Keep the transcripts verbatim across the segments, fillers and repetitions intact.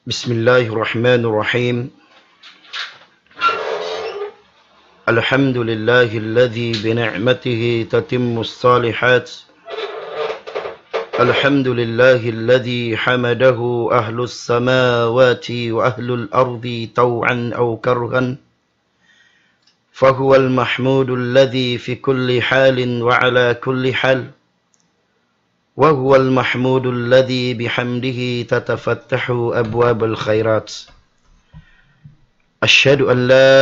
بسم الله الرحمن الرحيم. الحمد لله الذي بنعمته تتم الصالحات. الحمد لله الذي حمده أهل السماوات وأهل الأرض طوعا أو كرها، فهو المحمود الذي في كل حال وعلى كل حال، وهو المحمود الذي بحمده تتفتح أبواب الخيرات. أشهد أن لا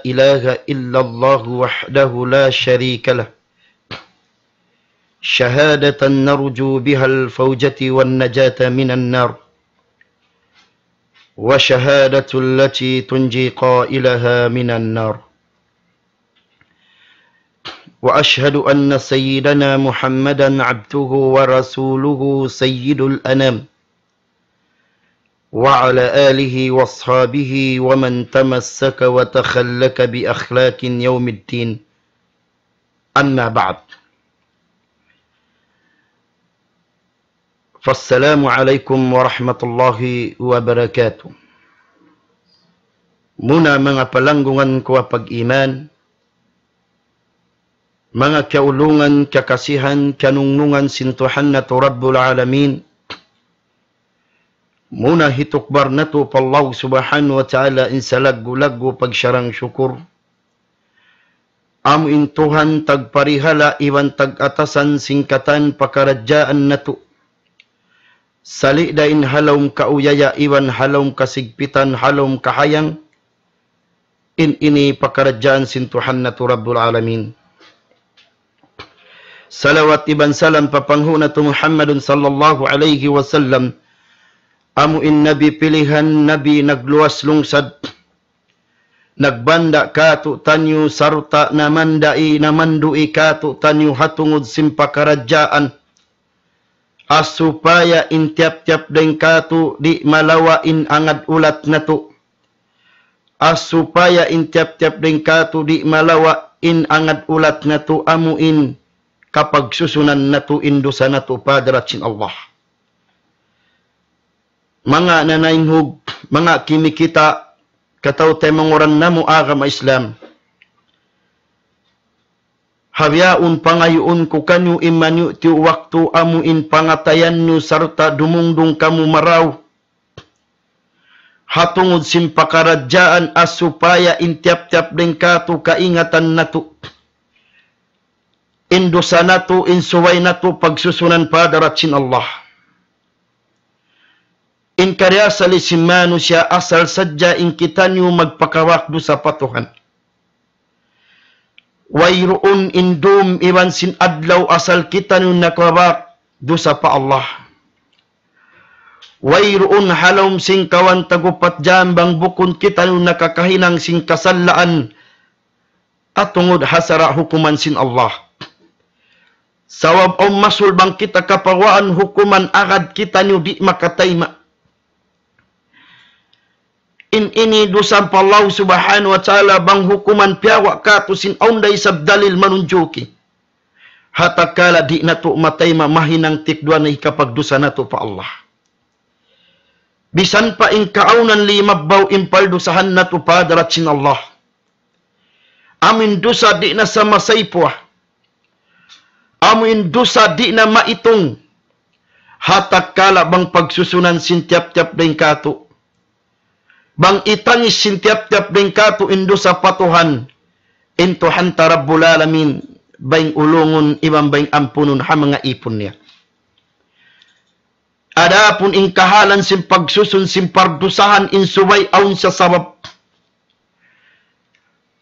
إله إلا الله وحده لا شريك له، شهادة نرجو بها الفوجة والنجاة من النار، وشهادة التي تنجي قائلها من النار. وأشهد أن سيدنا محمدا عبده ورسوله سيد الأنام، وعلى آله وأصحابه ومن تمسك وتخلق بأخلاق يوم الدين. أما بعد، فالسلام عليكم ورحمة الله وبركاته. Muna manga palanggungan ku ha pag-iman, manga kiyaulungan, kiyakasihan, kiyanungnungan sin Tuhan natu' Rabbul Alamin, muna hitukbal natu' pa Allah Subhanahu wa Ta'ala in salaggu'-laggu' pagsarang-sukur. Amu in Tuhan tagparihala' iban tag-atasan sin katan pakaradjaan natu'. Sali' da in ha lawm kauyaya iban ha lawm kasigpitan, ha lawm kahayang, in ini pakaradjaan sin Tuhan natu' Rabbul Alamin. Salawat iban salam pa panghu' natu' Muhammadun sallallahu alayhi wasallam, amu in Nabi pilihan, Nabi nagluwas lungsad, nagbanda' kātu'niyu sarta' namandai, namandu'i kātu'niyu ha tungud sin pakaradjaan. Supaya in tiyap-tiyap dayn kātu' di' malawa' in angad ulat natu'. Supaya in tiyap-tiyap dayn kātu' di' malawa' in angad ulat natu', amu in kapagsusunan natu' in dusa natu' pa hadarat sin Allah. Manga nanaynghug, manga kimikita', kataw-taymanghuran namu' agama Islam. Ha bihaun pangayuun ku kaniyu in maniyu'tiyu' waktu amu in pangatayan niyu sarta' dumungdung kamu marayaw. Ha tungud sin pakaradjaan supaya in tiyap-tiyap dayn kātu' kaingatan natu'. In dusa natu', in subay natu' pagsusunan pa hadarat sin Allah. In kari asal sin manusiya' asal sadja in kitaniyu magpakawak dusa pa Tuhan. Wayruun in dum iban sin adlaw asal kitaniyu nakawak dusa pa Allah. Wayruun ha lawm sin kawhaan tag-upat jam bang bukun kitaniyu nakakahinang sin kasalaan ha tungud ha sara' hukuman sin Allah. Sabab awn masul bang kita kapawaan hukuman agad kitaniyu di' makatayma'. In ini dusa pa Allah Subhanahu wa Ta'ala bang hukuman piyawa' kātu' sin awn da isab dalil manunjuki. Ha tatkala di' natu' matayma' mahinang tikduwa na hikapagdusa natu' pa Allah. Bisan pa in kaawnan limabbaw in paldusahan natu' pa hadarat sin Allah. Amu in dusa di' na sa masaypuwa. Amu in dusa di' na maitung. Ha tatkala bang pagsusunan sin tiyap-tiyap dayn kātu'. Bang itangis sin tiyap-tiyap dayn kātu' in dusa pa Tuhan. In Tuhan ta Rabbul Alamin, bayng ulungun iban bayng ampunun ha manga īpun niya. Adapun in kahalan sin pagsusun sin pardusahan in subay awn siya sabab.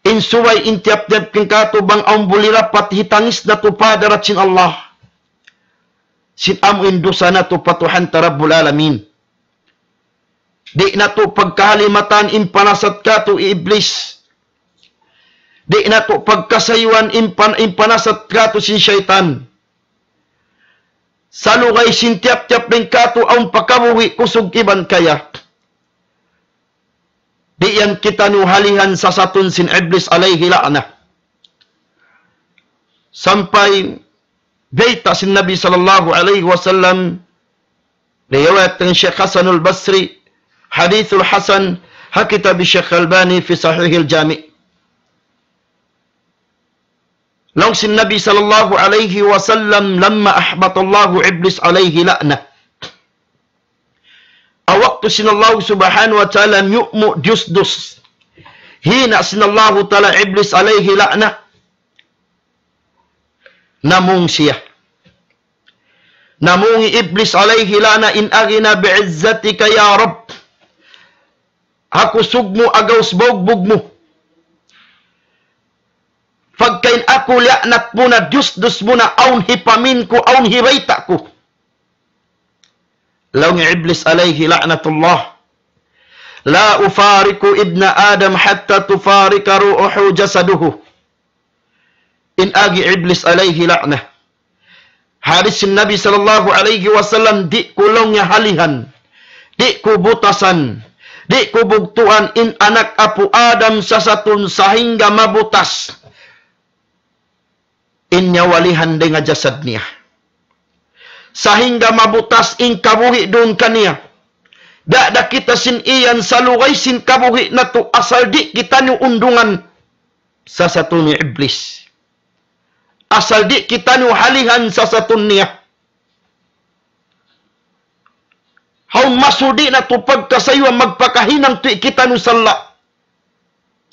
In subay in tiyap-tiyap dayn kātu' bang awn buli dapat hitangis natu' pa hadarat sin Allah. Sin amu in dusa natu' pa Tuhan ta Rabbul Alamin. Di' natu' pagkahalimatan in panasat kātu' hi Iblis. Di' natu' pagkasayuan in pan-, in panasat kātu' sin saytan. Salugay sin tiyap-tiyap dayn kātu' awn pakabuhi' kusug iban kaya. Di' yan kitaniyu halihan sasatun sin Iblis alayhi la'na. Sampay bayta' sin Nabi sallallahu alayhi wasallam, riwayat dayn Sheikh Hasanul Basri, Hadithul hasan, ha kitab Shaykh Albani fi Sahihil Jami'. Laung sin Nabi sallallahu alayhi wasallam, لما أحبط الله إبليس عليه لعنة. Ha waktu sin Allah subhanahu wa ta'ala miyumu' diyusdus, hina' sin Allah ta'ala Iblis alayhi la'na, namung siya. Namung hi Iblis alayhi la'na in agi niya, بعزتك يا رب. Ha kusug mu, agaus bugbug mu. Pagka in aku liyaanat mu na, diyusdus mu na, awn hipamin ku, awn hibayta' ku. Laung Iblis alayhi la'natullah, لا أفارق ابن آدم حتى تفارق روحه جسده. In agi Iblis alayhi la'na. Hadis sin Nabi sallallahu alayhi wasallam, di' ku laung niya halihan, di' ku butasan, di' ku bugtuan in anak apu' Adam sasatun sahingga mabutas in nyawa lihan dayn ha jasad niya. Sahingga mabutas in kabuhi' duun kaniya. Da, da kita sin iyan salugay sin kabuhi' natu' asal di' kitaniyu undungan sasatun hi Iblis. Asal di' kitaniyu halihan sasatun niya. Hawnu masul di' natu' pagkasayuan magpakahinang tuwi' kitaniyu salla'.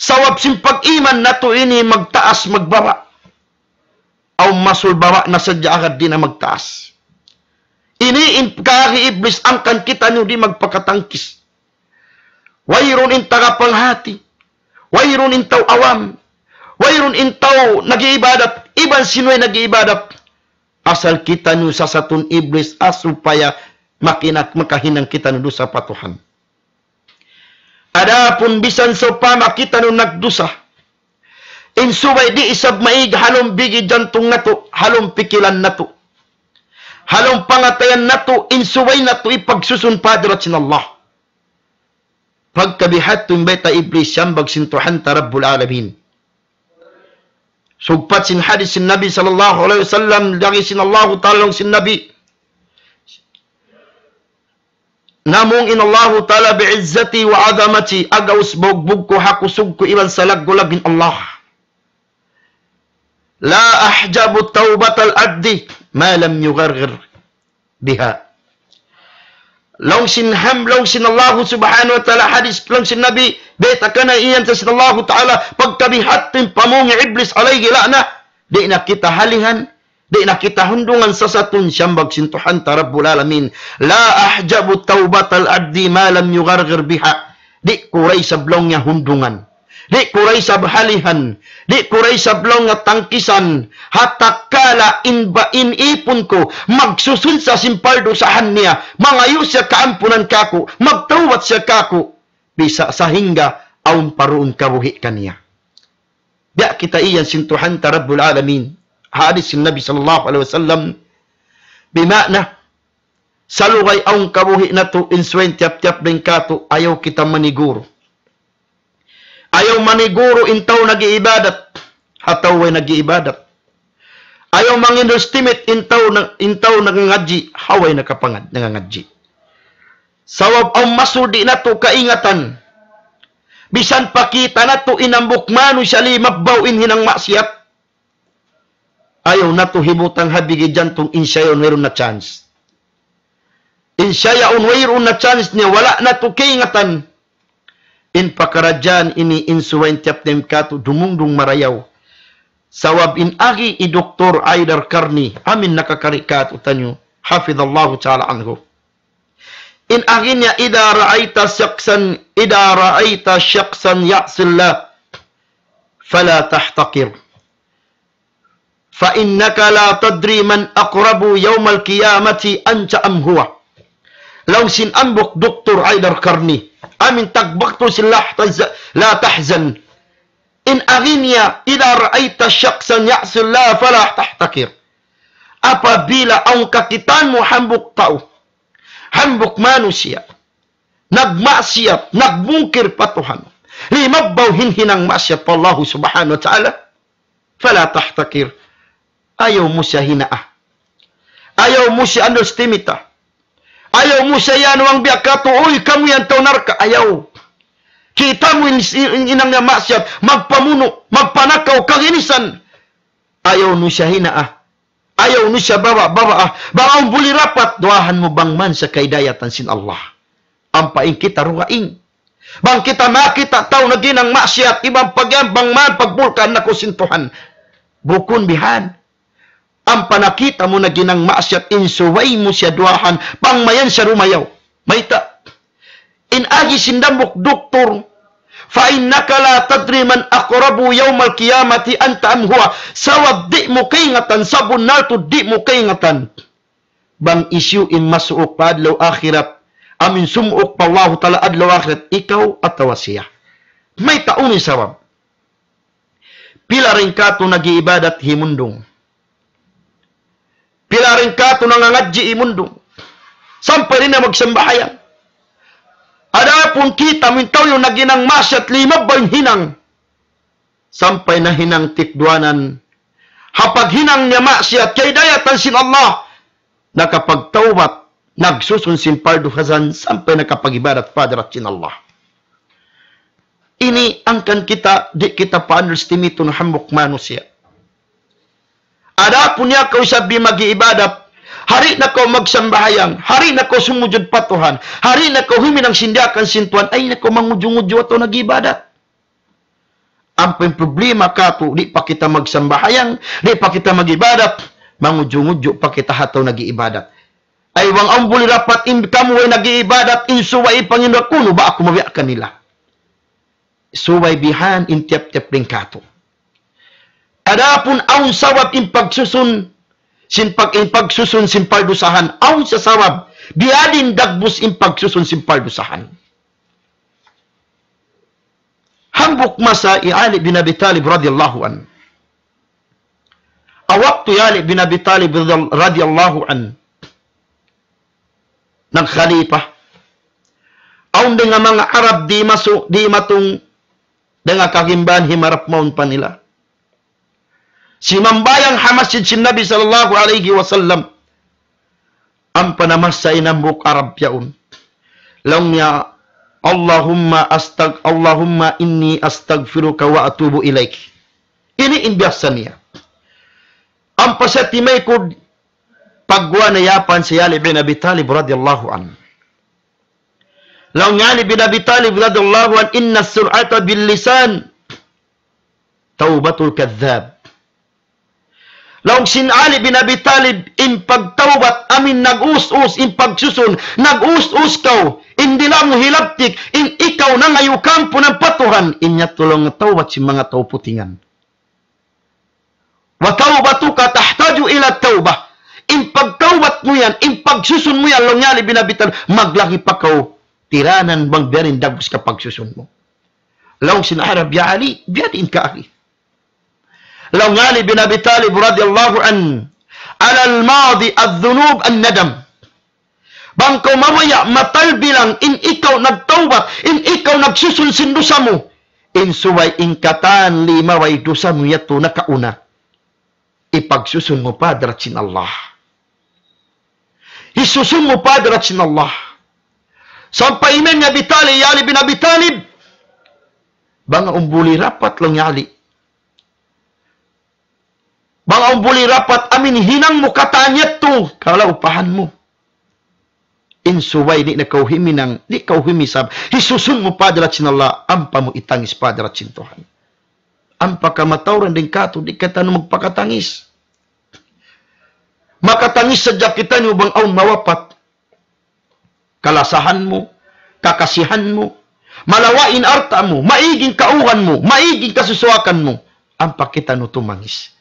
Sabab sin pag-iman natu' ini magtaas magbaba'. Hawnu masul baba' na sadja agad di' na magtaas. Ini in kaagi Iblis, hangkan kitaniyu di' magpakatangkis. Wayruun in taga panghati, wayruun in tau awam, wayruun in tau nag-iibadat, iban sin way nag-iibadat. Asal kitaniyu sasatun Iblis, ha supaya makinak-, makahinang kitaniyu dusa pa Tuhan. Adapun bisan sawpama kitaniyu nagdusa, in subay di' isab maig ha lawm bigi jantung natu', ha lawm pikilan natu', ha lawm pangatayan natu', in subay natu' ipagsusun pa hadarat sin Allah. Pagkabiha' tuud in bayta' Iblis, siyambag sin Tuhan ta Rabbul Alamin. Sugpat sin hadis sin Nabi sallallahu alayhi wasallam, laung sin Allahu Ta'ala, laung sin Nabi, namung in Allahu Ta'ala, بعزتي وعظمتي, agaus bugbug ku, ha kusug ku iban salaggu'-laggu' in Allah. لا أحجب توبة العبد ما لم يغرغر بها. Laung sin ham-, laung sin Allahu subhanahu wa ta'ala, hadis laung sin Nabi, bayta' kaniya yan sin Allahu Ta'ala, pagkabiha' tuud in pamung hi Iblis alayhi la'na, di' na kita halihan, di' na kita hundungan sasatun, siyambag sin Tuhan ta Rabbul Alamin. لا أحجب توبة العبد ما لم يغرغر بها. Di' ku da isab laung niya hundungan. Di' ku da isab halihan. Di' ku da isab laung niya tangkisan. Ha tatkala in ba-, in ipun ku magsusun sa sin pardusahan niya, mangayu' siya kaampunan kāku', magtawbat siya kāku', bisan sahingga awn pa duun kabuhi' kaniya. Biya' kita iyan sin Tuhan ta Rabbul Alamin. Hadis sin Nabi sallallahu alayhi wasallam. Bima'na, salugay awn kabuhi' natu', in subay tiyap-tiyap dayn kātu', ayaw kita maniguru. Ayaw maniguru in tau nag-iibadat ha tau way nag-iibadat. Ayaw mang-underestimate in tau na, in tau nangangadji' ha way nakapangad-, nangangadji'. Sabab awn masul di' natu' kaingatan. Bisan pa kita natu' in hambuuk manusiya' limabbaw in hinang maksiyat, ayaw natu' hibutang ha bigi jantung in siya yaun wayruun na chance. In siya yaun wayruun na chance niya, wala' natu' kaingatan. In pakaradjaan ini in subay tiyap-tiyap kātu' dumungdung marayaw. Sabab in agi hi Doktor Haydar Qarni, amu in nakakari kātu'niyu, hafidhahullahu ta'ala anhu. In agi niya, إذا رأيت شخصا، إذا رأيت شخصا يعصي الله فلا تحتقر. فإنك لا تدري من أقرب يوم القيامة أنت أم هو. Laung sin hambuuk Doktor Haydar Qarni, amu in tagbaktul sin La Tahz-, La Tahzan. In agi niya, إذا رأيت شخصا يعصي الله فلا تحتقر. Apabila awn kakitaan mu hambuuk tau, hambuuk manusiya', nagmaksiyat, nagmungkir pa Tuhan, limabbaw in hinang maksiyat pa Allahu subhanahu wa ta'ala, فلا تحتقر. Ayaw mu siya hinaa. Ayaw mu siya underestimate. Ayaw mu siya yan, wang biya' katu', uy, kamu yan tau narka', ayaw. Kita' mu in, in, in hinang niya maksiat, magpamunu', magpanakaw, kaginisan. Ayaw nu siya hinaa. Ayaw nu siya bawa-bawaa. Bang awn buli rapat, duwaahan mu bang man siya kahidayatan sin Allah. Ampa in kita dugaing. Bang kita makakita' tau naghinang maksiat, iban pag-, bang man pagbulkaan na kaw sin Tuhan. Bukun bihan. Ampa nakita' mu naghinang maksiat, in subay mu siya duwaahan, bang mayan siya dumayaw. Mayta'? In agi sin hambuuk duktur, فإنك لا تدري من أقرب يوم القيامة أنت أم هو. Sabab di' mu kaingatan, sabunnal tuud di' mu kaingatan. Bang hisiyu in masuuk pa adlaw akhirat, amu in sumuuk pa Allahu Ta'ala adlaw akhirat, ikaw atawa siya. Mayta' unu in sabab? Pila dayn katu' nag-iibadat himundung. Pila dayn katu' nangangadji' himundung. Sampay di' na magsambahayang. Adapun kita' mu in tau yan naghinang maksiat, limabay in hinang. Sampay nahinang tikduanan. Ha paghinang niya maksiat, kahidayatan sin Allah. Nakapagtawbat, nagsusun sin pardu hasan, sampay nakapag-ibadat pa hadarat sin Allah. Ini hangkan kita, di' kita pa-underestimate in hambuuk manusiya'. Adapun ya kaw isab di' mag-iibadat, ha di' na kaw magsambahayang, ha di' na kaw sumujud pa Tuhan, ha di' na kaw huminang sin diyaakan sin Tuhan, ay na kaw mangudju-ngudju atawa nag-iibadat. Ampa in problema katu', di' pa kita magsambahayang, di' pa kita mag-ibadat, mangudju-ngudju pa kita ha tau nag-iibadat. Ay, bang awn buli rapat in kamu way nag-iibadat, in subay in pangin kunu', ba aku mabiya' kanila. Subay bihan in tiyap-tiyap dayn katu'. Adapun awn sabab in pagsusun, sin pag-, in pagsusun sin pardusahan, awn sa sabab, biya' diin dagbus in pagsusun sin pardusahan. Hambuuk masa hi Ali bin Abi Talib radiyallahu anhu. Ha waktu hi Ali bin Abi Talib radiyal-, radiyallahu anhu nagkhalifa, awn dayn ha manga Arab di' masu-, di' matung dayn ha kagimbahan himarap mawn pa nila. Simambahayang ha masjid sin Nabi sallallahu alayhi wasallam. Ampa namassa in hambuuk Arab yaun. Laung niya, "Allahumma astag-, Allahumma inni astaghfiruka wa atubu ilayk." Ini in biyasa niya. Ampa siya timaykud, pagguwa' na yapan hi Ali bin Abi Talib radiyallahu anhu. Laung hi Ali bin Abi Talib radiyallahu anhu, "Inna sur'ata bil lisan tawbatul kadhdhab." Laung sin Ali bin Abi Talib, in pagtawbat amu in nag-us-us, in pagsusun, nag-us-us kaw, in dila' mu hilabtik, in ikaw nangayu' kaampunan pa Tuhan, in yadtu laung tawbat sin manga tau putingan. "Wa tawbatuka tahtaju ila tawbah." In pagtawbat mu yan, in pagsusun mu yan, laung hi Ali bin Abi Talib, maglagi pa kaw tiranan bang biya' diin dagbus ka pagsusun mu. Laung sin Arab, "Ya Ali, biya' diin ka agi?" Laung hi Ali bin Abi Talib radiyallahu anhu, "Alal madi adh-dhunub an-nadam." Bang kaw mabaya' matal bilang in ikaw nagtawbat, in ikaw nagsusun sin dusa mu, in subay in katan limabay dusa mu yadtu nakauna. Ipagsusun mu pa hadarat sin Allah. Isusun mu pa hadarat sin Allah. Sampay imiyan hi Abi Talib, hi Ali bin Abi Talib, "Bang awn buli rapat," laung hi Ali. "Bang awn buli rapat amu in hinang mu katan yadtu, kalaupahan mu. In subay di' na kaw huminang, di' kaw humisab, isusun mu pa hadarat sin Allah, ampa mu itangis pa hadarat sin Tuhan." Ampa kamatauran dayn katu', di' kitaniyu magpakatangis. Makatangis sadja kitaniyu bang awn mawapat. Kalasahan mu, kakasihan mu, malawa' in alta' mu, maig in kauhan mu, maig in kasusuwakan mu, ampa kitaniyu tumangis.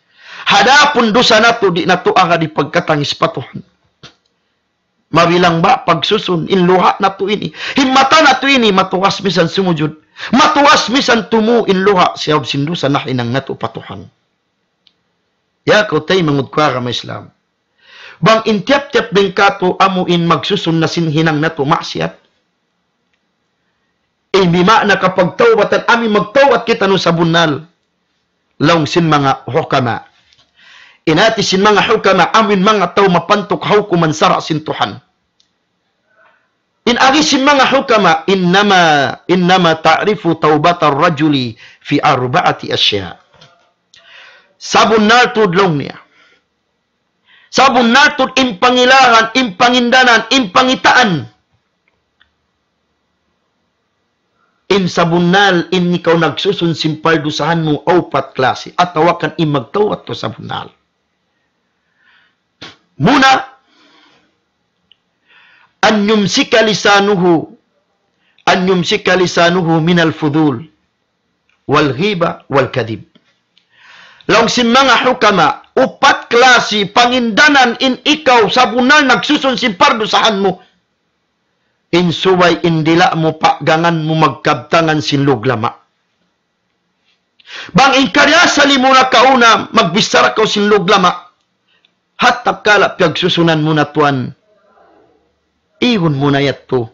Adapun dusa natu', di' natu' agad hipagkatangis pa Tuhan. Mabilang ba pagsusun in luha' natu' ini, in mata natu' ini, matugas misan sumujud, matugas misan tumu' in luha' sabab sin dusa nahinang natu' pa Tuhan. Ya kaw taymanghud ku ha agama Islam. Bang in tiyap-tiyap dayn katu' amu in magsusun na sin hinang natu' maksiat. In bima'na kapagtawbatan, amu in magtawbat kitaniyu sabunnal. Laung sin manga hukama. In hāti sin manga hukama, amu in manga tau mapantuk ha hukuman sara' sin Tuhan. In agi sin manga hukama, innama, innama ta'rifu tawbatar rajuli fi arba'ati asya. Sabunnal tuud laung niya. Sabunnal tuud in pangilahan, in pangindanan, in pangitaan. In sabunnal in ikaw nagsusun sin pardusahan mu, upat klasi, atawa kan in magtawbat kaw sabunnal. Muna, an yumsika lisanuhu, an yumsika lisanuhu minal fudul, wal ghiba, wal kadhib. Laung sin manga hukama, upat klasi pangindanan in ikaw sabunnal nagsusun sin pardusahan mu. In subay in dila' mu, paggangan mu magkabtangan sin luglama. Bang in kariyasali mu nakauna, magbichara kaw sin luglama. Hatta kala piyagsusunan mu na tuwan, igun mu na yadtu.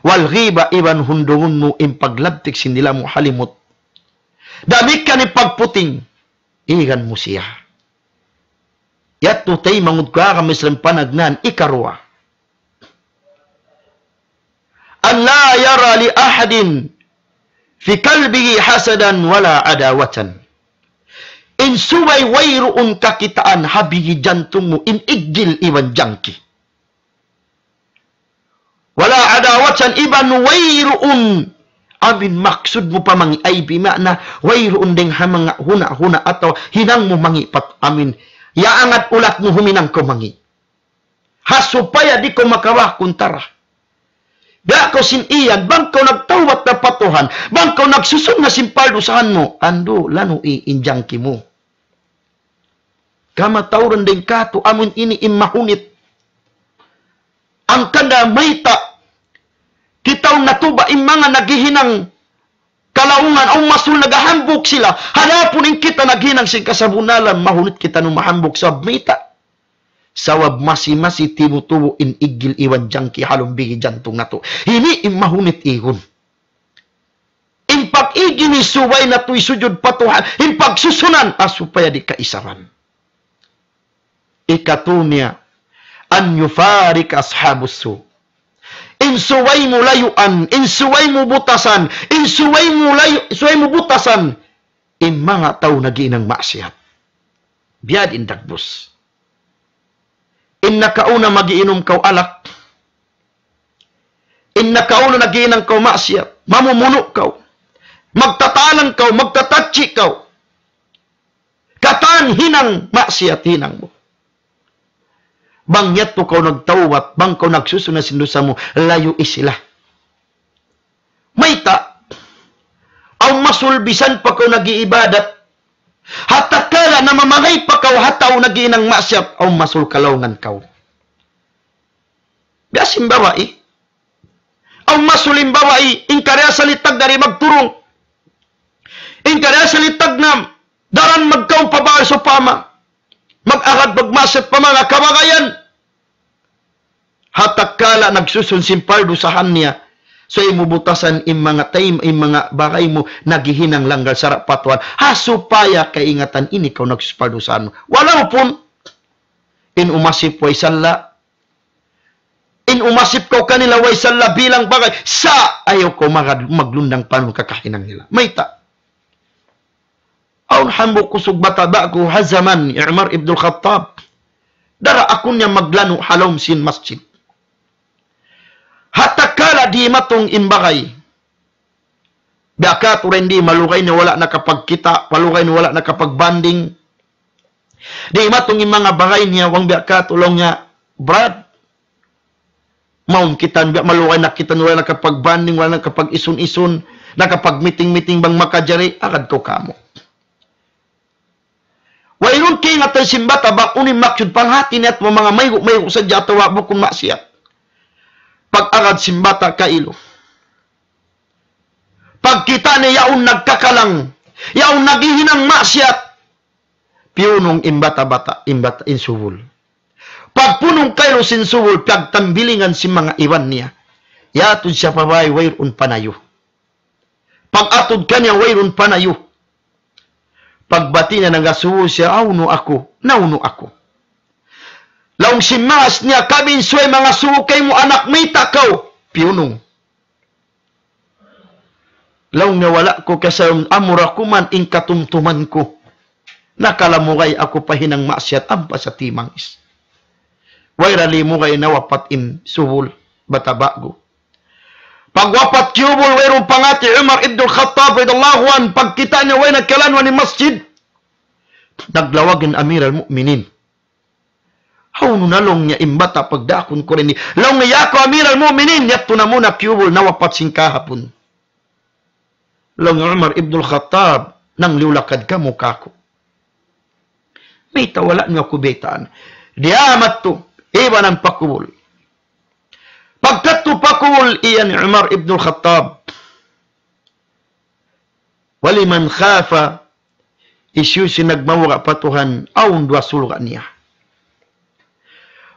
Wal ghiba, iban hundungun mu in paglabtik sin dila' mu ha limut. Damikkiyan in pagputing, igan mu siya. Yadtu taymanghud ku ha agama Islam panagnaan ikaruwa. An la yara li ahadin fi qalbihi hasadan wala adawatan. In subay wayruun kakitaan ha bigi jantung mu in iggil iban jangki. Wala adawatan, iban wayruun amin maksud mu pa mangi', ay bima'na wayruun dayng ha manga huna-huna atawa hinang mu mangi' pa amin. Yaangat ulat mu huminang kaw mangi'. Ha supaya di' kaw makawa' kuntara. Biya' kaw sin iyan, bang kaw nagtawbat na pa Tuhan, bang kaw nagsusun na sin pardusahan mu, andu', lanui in jangki mu. Kamatauran dayng katu', amun ini in mahunit. Hangkan da mayta', kitaun natu' ba in manga naghihinang kalaungan, awn masul naghahambuuk sila. Adapun in kita naghinang sin kasabunnalan, mahunit kitaniyu mahambuuk sabab mayta'. Sabab masi-masi timutubu' in iggil iban jangki ha lawm bigi jantung natu'. Ini in mahunit igun. In pag-ig ini subay natu' isujud pa Tuhan, in pagsusunan, ha supaya di' kaisaban. Ikatu niya, an yufarika ashabus su. In subay mu layuan, in subay mu butasan, in subay mu layu-, subay mu butasan, in manga tau naghihinang maksiyat. Biya' diin dagbus. In nakauna magiinum kaw alak. In nakauna naghihinang kaw maksiyat. Mamumunu' kaw. Magtatalang kaw, magtatachi kaw. Katan hinang maksiyat hinang mu. Bang yadtu kaw nagtawbat, bang kaw nagsusun na sin dusa mu, layui sila. Mayta', awn masul bisan pa kaw nag-iibadat, ha tatkala namamagay pa kaw ha tau naghihinang maksiyat, awn masul kalaungan kaw. Biya' sin babai, awn masul in babai, in kariyasalitan di' magturung. In kariyasalitan na daran magkaun pa babai sawpama. Mag-agad magmaksiyat pa manga kabagayan. Ha tatkala nagsusun sin pardusahan niya, subay mu butasan in manga taym-, in manga bagay mu naghihinang langgal sara' pa Tuhan. Ha supaya kaingatan ini kaw nagsusun pardusahan mu. Walaupun in umasip way salla', in umasip kaw kanila way salla' bilang bagay, sa' ayaw kaw magad-, maglundang panun kakahinang nila. Mayta'? Awn hambuuk kusug bata' ba'gu ha jaman hi Umar ibnul Khattab. Dara aku niya maglanu' ha lawm sin masjid. Ha tatkala dimatung in bagay. Biya' katu' ra in di' malugay niya wala' nakapagkita', malugay niya wala' nakapagbanding. Dimatung in manga bagay niya, bang biya' katu' laung niya, Brad, mawn kita, biya' malugay na kita, wala' nakapagbanding, wala' nakapag-isun-isun, nakapag-meeting-meeting bang makajari, agad kaw kāmu'. Wayruun kaingatan sin bata', bang unu in maksud panghati niya, manga maygu'-maygu' sadja atawa bukun maksiyat. Pag-agad sin bata' kailu. Pagkita' niya yaun nagkakalang, yaun naghihinang maksiyat. Piyunung in bata'-bata', in bata', in subul. Pagpunung kailu sin subul, piyagtambilingan sin manga iban niya. Yatud siya pa bāy, wayruun panayu. Pag-atud kaniya, wayruun panayu. Pagbati' niya nagasubu siya, "Hawnu aku? Nawnu aku?" Laung sin maas niya, "Kami in subay mangasubu kaymu, anak, mayta' kaw?" piyunung. Laung niya wala' ku kasayum, amura ku man in katumtuman ku. Nakalamugay aku pa hinang maksiyat ampa sa timangis. Way ra limugay nawapat in subul, bata' ba'gu. Pagwapat kiyubul, wayruun pangati Umar ibn al-Khattab radiyallahu anhu, pagkita' niya way na kiyalanwan in masjid. Naglawag in Amir al-Mu'minin. Hawnu na laung niya in bata' pagdaakun ku dayn di. Laung niya, "Ya kaw Amir al-Mu'minin, yadtu na muna kiyubul, nawapat sin kahapun." Laung niya Umar ibn al-Khattab, "Nangliyu lakad kamu kāku'. Mayta' wala' niyu aku baytaan?" Diyā madtu, ibanan pa kubul. Pagkadtu pa kubul, iyan Umar ibn al-Khattab. ولمن خاف, hisiyu-siyu in nagmabuga' pa Tuhan, awn duwa surga' niya.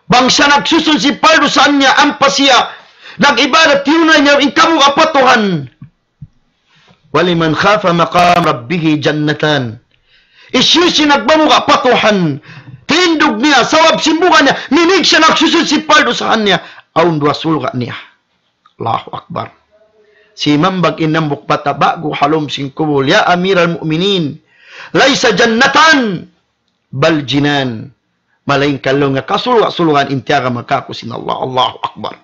Bang siya nagsusun sin pardusahan niya, ampa siya nag-ibadat, tiyunay niya in kabuga' pa Tuhan. ولمن خاف مقام ربه جنتان. Hisiyu-siyu in nagmabuga' pa Tuhan, tindug niya, sabab sin buga' niya, minig siya nagsusun sin pardusahan niya, awn duwa surga' niya. Allahu Akbar. Simambag in hambuuk bata' ba'gu ha lawm sin kubul, "Ya Amir al-Mu'minin, ليس جنتان بل جنان." Malaingkan laung niya kasurga'-surgaan in tiyagama kāku' sin Allah. Allahu Akbar.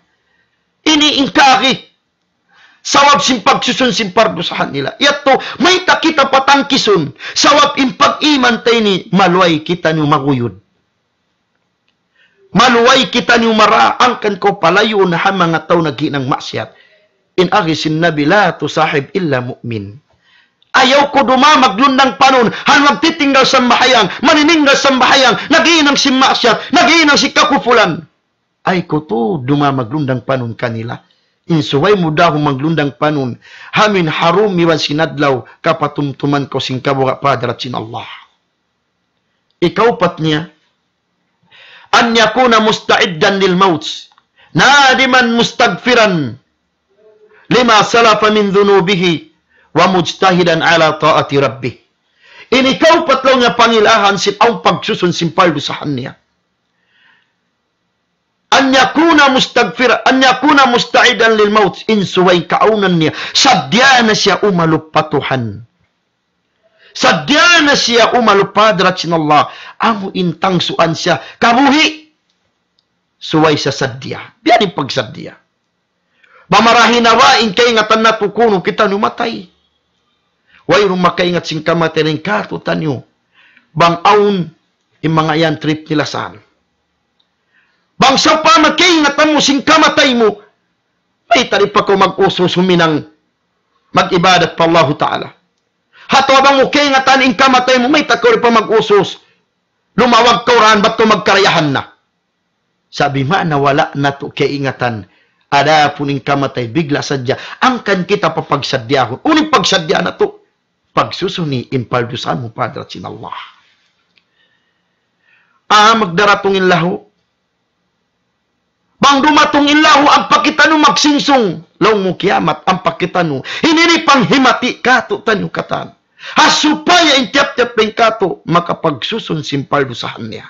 Ini in kaagi. Sabab sin pagsusun sin pardusahan nila. Yadtu, mayta' kita patangkisun. Sabab in pag-iman ta ini, maluhay kitaniyu maguyud. Maluhay kitaniyu mara, hangkan kaw palayuun ha manga tau naghinang maksiyat. In agi sin Nabi, لا تصاحب إلا مؤمن. Ayaw kaw dumā maglundang panun, ha magtitinggal sambahayang, manininggal sambahayang, naghinang sin maksiyat, naghinang sin kakupulan. Ayaw kaw tu dumā maglundang panun kanila. In subay mu da maglundang panun, amu in ha dūm iban sin adlaw, kapatumtuman kaw sin kabuga' pa hadarat sin Allah. Ikaupat niya, أن يكون مستعدا للموت نادما مستغفرا لما سلف من ذنوبه ومجتهدا على طاعة ربه. Ini kaupat laung niya pangilahan sin awn pagsusun sin pardusahan niya. أن يكون مستغفرا، أن يكون مستعدا للموت. In subay kaawnan niya, saddiya na siya umalup pa Tuhan. Saddiya na siya umalup pa hadarat sin Allah. Amu in tangsuan siya kabuhi'. Subay siya saddiya. Biya' diin pagsaddiya? Bang marahi na ba in kaingatan natu' kunu' kitaniyu matay? Wayruun makaingat sin kamatay dayn kātu'niyu. Bang awn in manga yan trip nila saan. Bang sawpama kaingatan mu sin kamatay mu, mayta' di' pa kaw mag-usus huminang mag-ibadat pa Allahu Ta'ala? Atawa bang mu kaingatan in kamatay mu, mayta' kaw di' pa mag-usus? Lumawag kaw daan, bat kaw magkarayahan na. Sa' biya' na wala' natu' kaingatan. Adapun in kamatay, bigla sadja. Hangkan kita papagsaddiyahun. Unu in pagsaddiyahan natu'? Pagsusuni in pardusahan mu pa hadarat sin Allah. Ah, magdaratung in lahu. Bang dumatung in lahu, ampa kitaniyu magsingsung. Laung mu kiyamat, ampa kitaniyu. Ini in panghimati kātu'niyu katan. Ha supaya in tiyap-tiyap dayn kātu' makapagsusun sin pardusahan niya.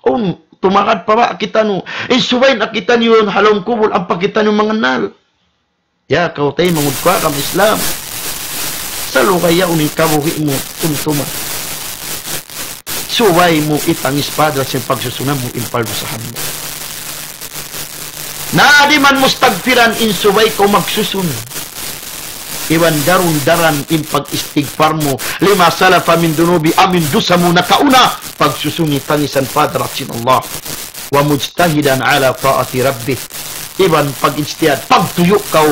Unu, tumagad pa ba kitaniyu? In subay na kitaniyu yan ha lawm kubul, ampa kitaniyu mangannal. Ya, kaw taymanghud ku ha agama Islam. Sa' lugay yaun in kabuhi' mu, tumtuma. Subay mu itangis pa hadarat sin pagsusunan mu in pardusahan mu. Nadiman mustaghfiran, in subay kaw magsusun. Iban darun-daran in pag-istigfar mu. Lima salafa min dunubi, amu in dusa mu nakauna. Pagsusuni tangisan pa hadarat sin Allah. Wa mujtahidan ala ta'ati rabbih. Iban pag-ijtihad, pagtuyu' kaw,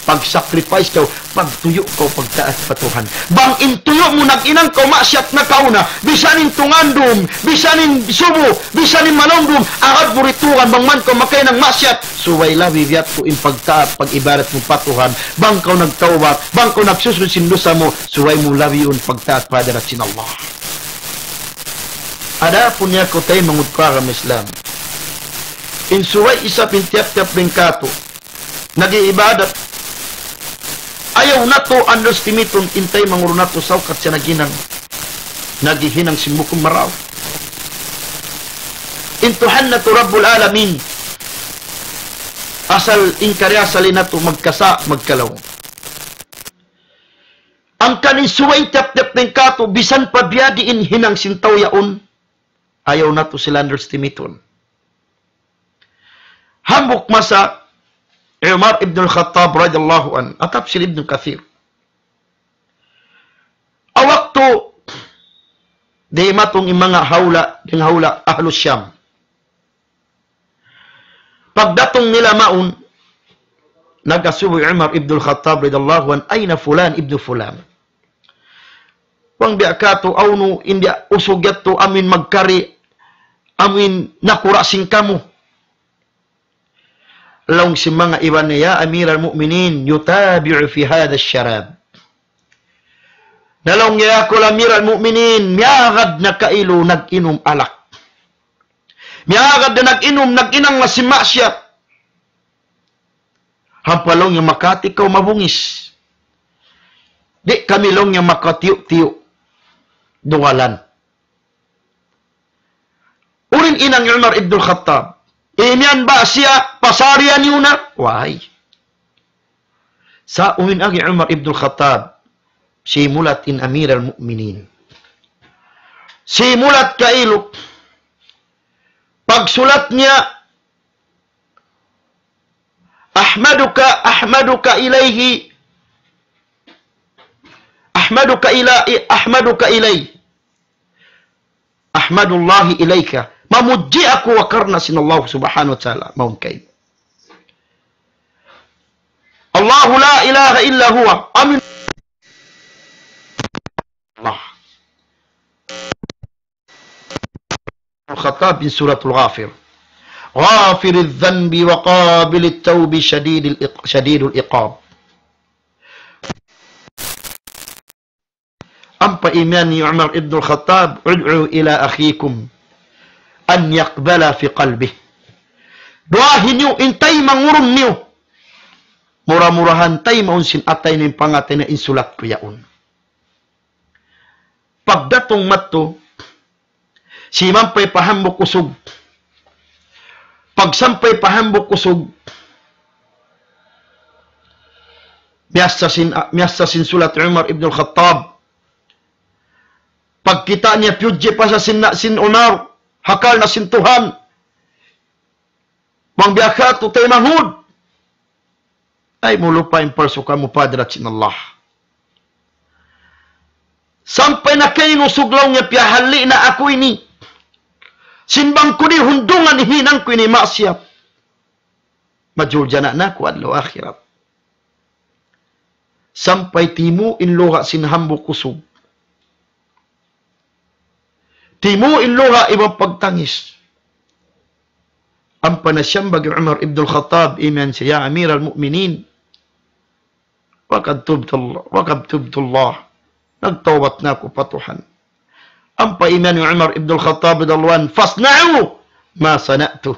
pag-sacrifice kaw, pagtuyu' kaw pagtaat pa Tuhan. Bang in tuyu' mu naghinang kaw maksiyat nakauna, bisan in tungandum, bisan in subu, bisan in malumdum, agad mu ritugan bang man kaw makahinang maksiyat, subay labi biya' tu in pagtaat, pag-ibadat mu pa Tuhan, bang kaw nagtawbat, bang kaw nagsusun sin dusa mu, subay mu labi in pagtaat pa hadarat sin Allah. Adapun ya kaw taymanghud ku ha agama Islam. In subay isab in tiyap-tiyap dayn kātu' nag-iibadat. Ayaw natu' underestimate-un in taymanghud natu' sawkat siya naghinang. Naghihinang sin bukun marayaw. In Tuhan natu' Rabbul Alamin. Asal in karya asal in natu' magkasa', magkalaung. Hangkan in subay tiyap-tiyap dayn kātu', bisan pa biya' diin hinang sin tau yaun, ayaw natu' sila underestimate-un. Hambuuk masa, Umar ibn al-Khattab radiyallahu anhu, ha tafsir Ibn Kathir. Ha waktu dimatung in manga hula', dayn ha hula' Ahlus Sham. Pagdatung nila mawn, nag-asubu hi Umar ibn al-Khattab radiyallahu anhu, "Ayna fulan ibn fulan?" Bang biya' katu', hawnu in biya' usug yadtu amuin magkari, amuin nakura' sin kamu. Laung sin manga iban niya, "Ya Amiral Mu'minin, yutabi'u fi hadha sharab." Na laung niya, "Aku Amiral Mu'minin, miyagad na kailu nag-inum alak. Miyagad na nag-inum, nag-inang na sin maksiyat." Hampa laung niya, "Makati kaw mabungis. Di' kami laung niya makatiyu'-tiyu' dugalan." Unu in hinang hi Umar ibn al-Khattab? Imiyan ba siya pasarian niyu na? Way. Sa' unu in agi hi Umar ibn al-Khattab? Simulat in Amiral Mu'minin. Simulat kailu. Pagsulat niya, "Ahmaduka, ahmaduka ilayhi, ahmaduka ila-, ahmaduka ilayhi. Ahmadullahi ilayka." Mamudji aku ha karna' sin Allah subhanahu wa ta'ala. Mawn kay Allahu la ilaha illa huwa. Amin. Allah. Al-Khattab in Suratul Ghafir. غافر الذنب وقابل التوب شديد الإق-، شديد العقاب. Ampa imiyan hi Umar ibn al-Khattab, "Ud'u ila akhikum an yaqbala fi qalbih." Duwaahi niyu in taymanghud niyu. Mura-murahan taymaun sin atay niya in pangatay niya in sulat ku yaun. Pagdatung madtu, simampay pa hambuuk usug. Pagsampay pa hambuuk usug, miyassa sin, miyassa sin sulat Umar ibn al-Khattab. Pagkita' niya piyudji pa sa sin, sin Umar, ha karna' sin Tuhan. Bang biya' katu' taymanghud. Ay, mulupa in palsu kamu pa hadarat sin Allah. Sampay na kainusug laung niya piyahalli' na aku ini. Sin bang ku di' hundungan in hinang ku ini maksiyat. Majuljana' na aku adlaw akhirat. Sampay timu' in luha' sin hambuuk usug. Timu' in luha' iban pagtangis. Ampa na siyambag hi Umar ibn al-Khattab, imiyan siya, "Ya Amiral Mu'minin, wa qad tubtu Allah, wa qad tubtu Allah. Nagtawbat na aku pa Tuhan." Ampa imiyan hi Umar ibn al-Khattab radiyallahu anhu, "Fasna'u ma sana'tu."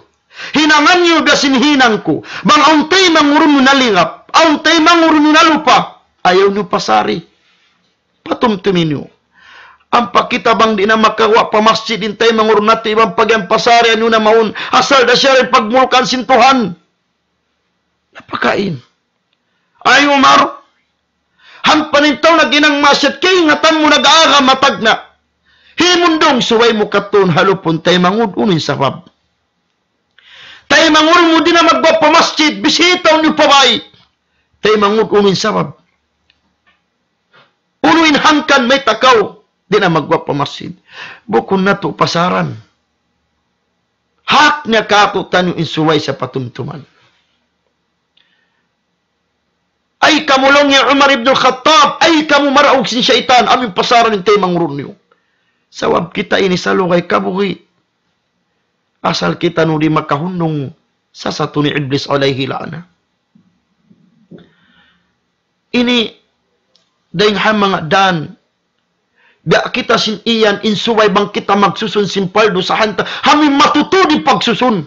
Hinangan niyu biya' sin hinang ku. Bang awn taymanghud niyu nalingap, awn taymanghud niyu nalupa, ayaw niyu pasari. Patumtumi niyu. Ampa kita bang di' na makaguwa' pa masjid in taymanghud natu' iban pag-iyan pasarian niyu na mawn, asal da siya in pagmulkaan sin Tuhan. Napakain. Ay Umar, hangkan in tau naghinang maksiyat, kaingatan mu nag-agama tagna'. Himundung subay mu kadtuun ha lupun taymanghud, unu in sabab? Taymanghud mu di' na magguwa' pa masjid, bisita niyu pa bay. Taymanghud, unu in sabab? Unu in hangkan mayta' kaw di' na magguwa' pa masjid? Bukun natu' pasaran. Hak niya kātu'niyu in subay sa patumtuman. Ay kamu laung hi Umar ibn al-Khattab, ay kamu maraug sin saytan, amu in pasaran in taymanghud niyu. Sabab kita ini salugay kabuhi'. Asal kitaniyu di' makahundung sasatu ni Iblis alayhi la'na. Ini dayng ha manga dan. Biya' kita sin iyan in subay bang kita magsusun sin pardu sa hanta. Amu in matutud in pagsusun.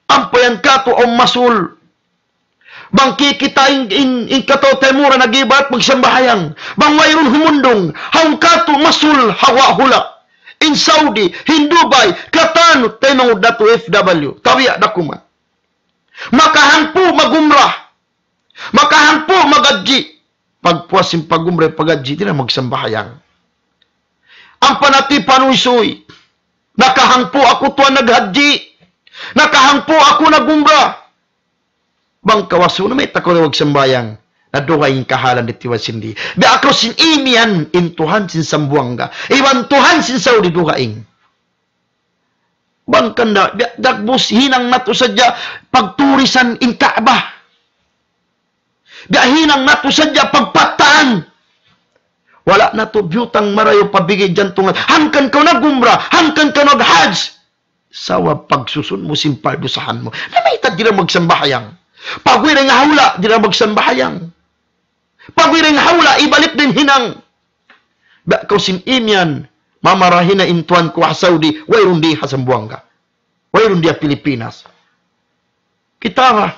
Ampa yan katu' awn masul. Bang kikita' in, in, in kataw-taymura nag-ibadat magsambahayang. Bang wayruun humundung. Awn katu' masul ha guwa' hula'. In Saudi, in Dubai, katan, taymanghud natu' F W. Tabiya' da kuman. Makahangpu' mag-umrah. Makahangpu' mag-hajji. Pagpuas sin pag-umrah, pag-hajji, di' na magsambahayang. Ampa natu' panuysuy. Nakahangpu' aku tuwan naghajji. Nakahangpu' aku nag-umrah. Bang kawasu na mayta' kaw di' magsambahayang. Na dugaing kahalan di' tiwa sindi. Biya' aku sin imiyan in Tuhan sin Sambuwangga. Iban Tuhan sin Saudi dugaing. Bang kanda, biya' dagbus hinang natu' sadja pagturisan in Ka'bah. Biya' hinang natu' sadja pagpattaan. Wala' natu' biyutang marayaw pa bigi' jantungan. Hangkan kaw nag-umrah, hangkan kaw nag-hajj. Sabab pagsusun mu sin pardusahan mu. Na mayta' di' na magsambahayang. Pagwiring hawla', di' na magsambahayang. Pagwiring hawla', ibalik da in hinang. Biya' kaw sin imiyan, mamarahi na in tuwan ku ha Saudi, wayruun di ha Sambuwangga. Wayruun di ha Pilipinas. Kita ba?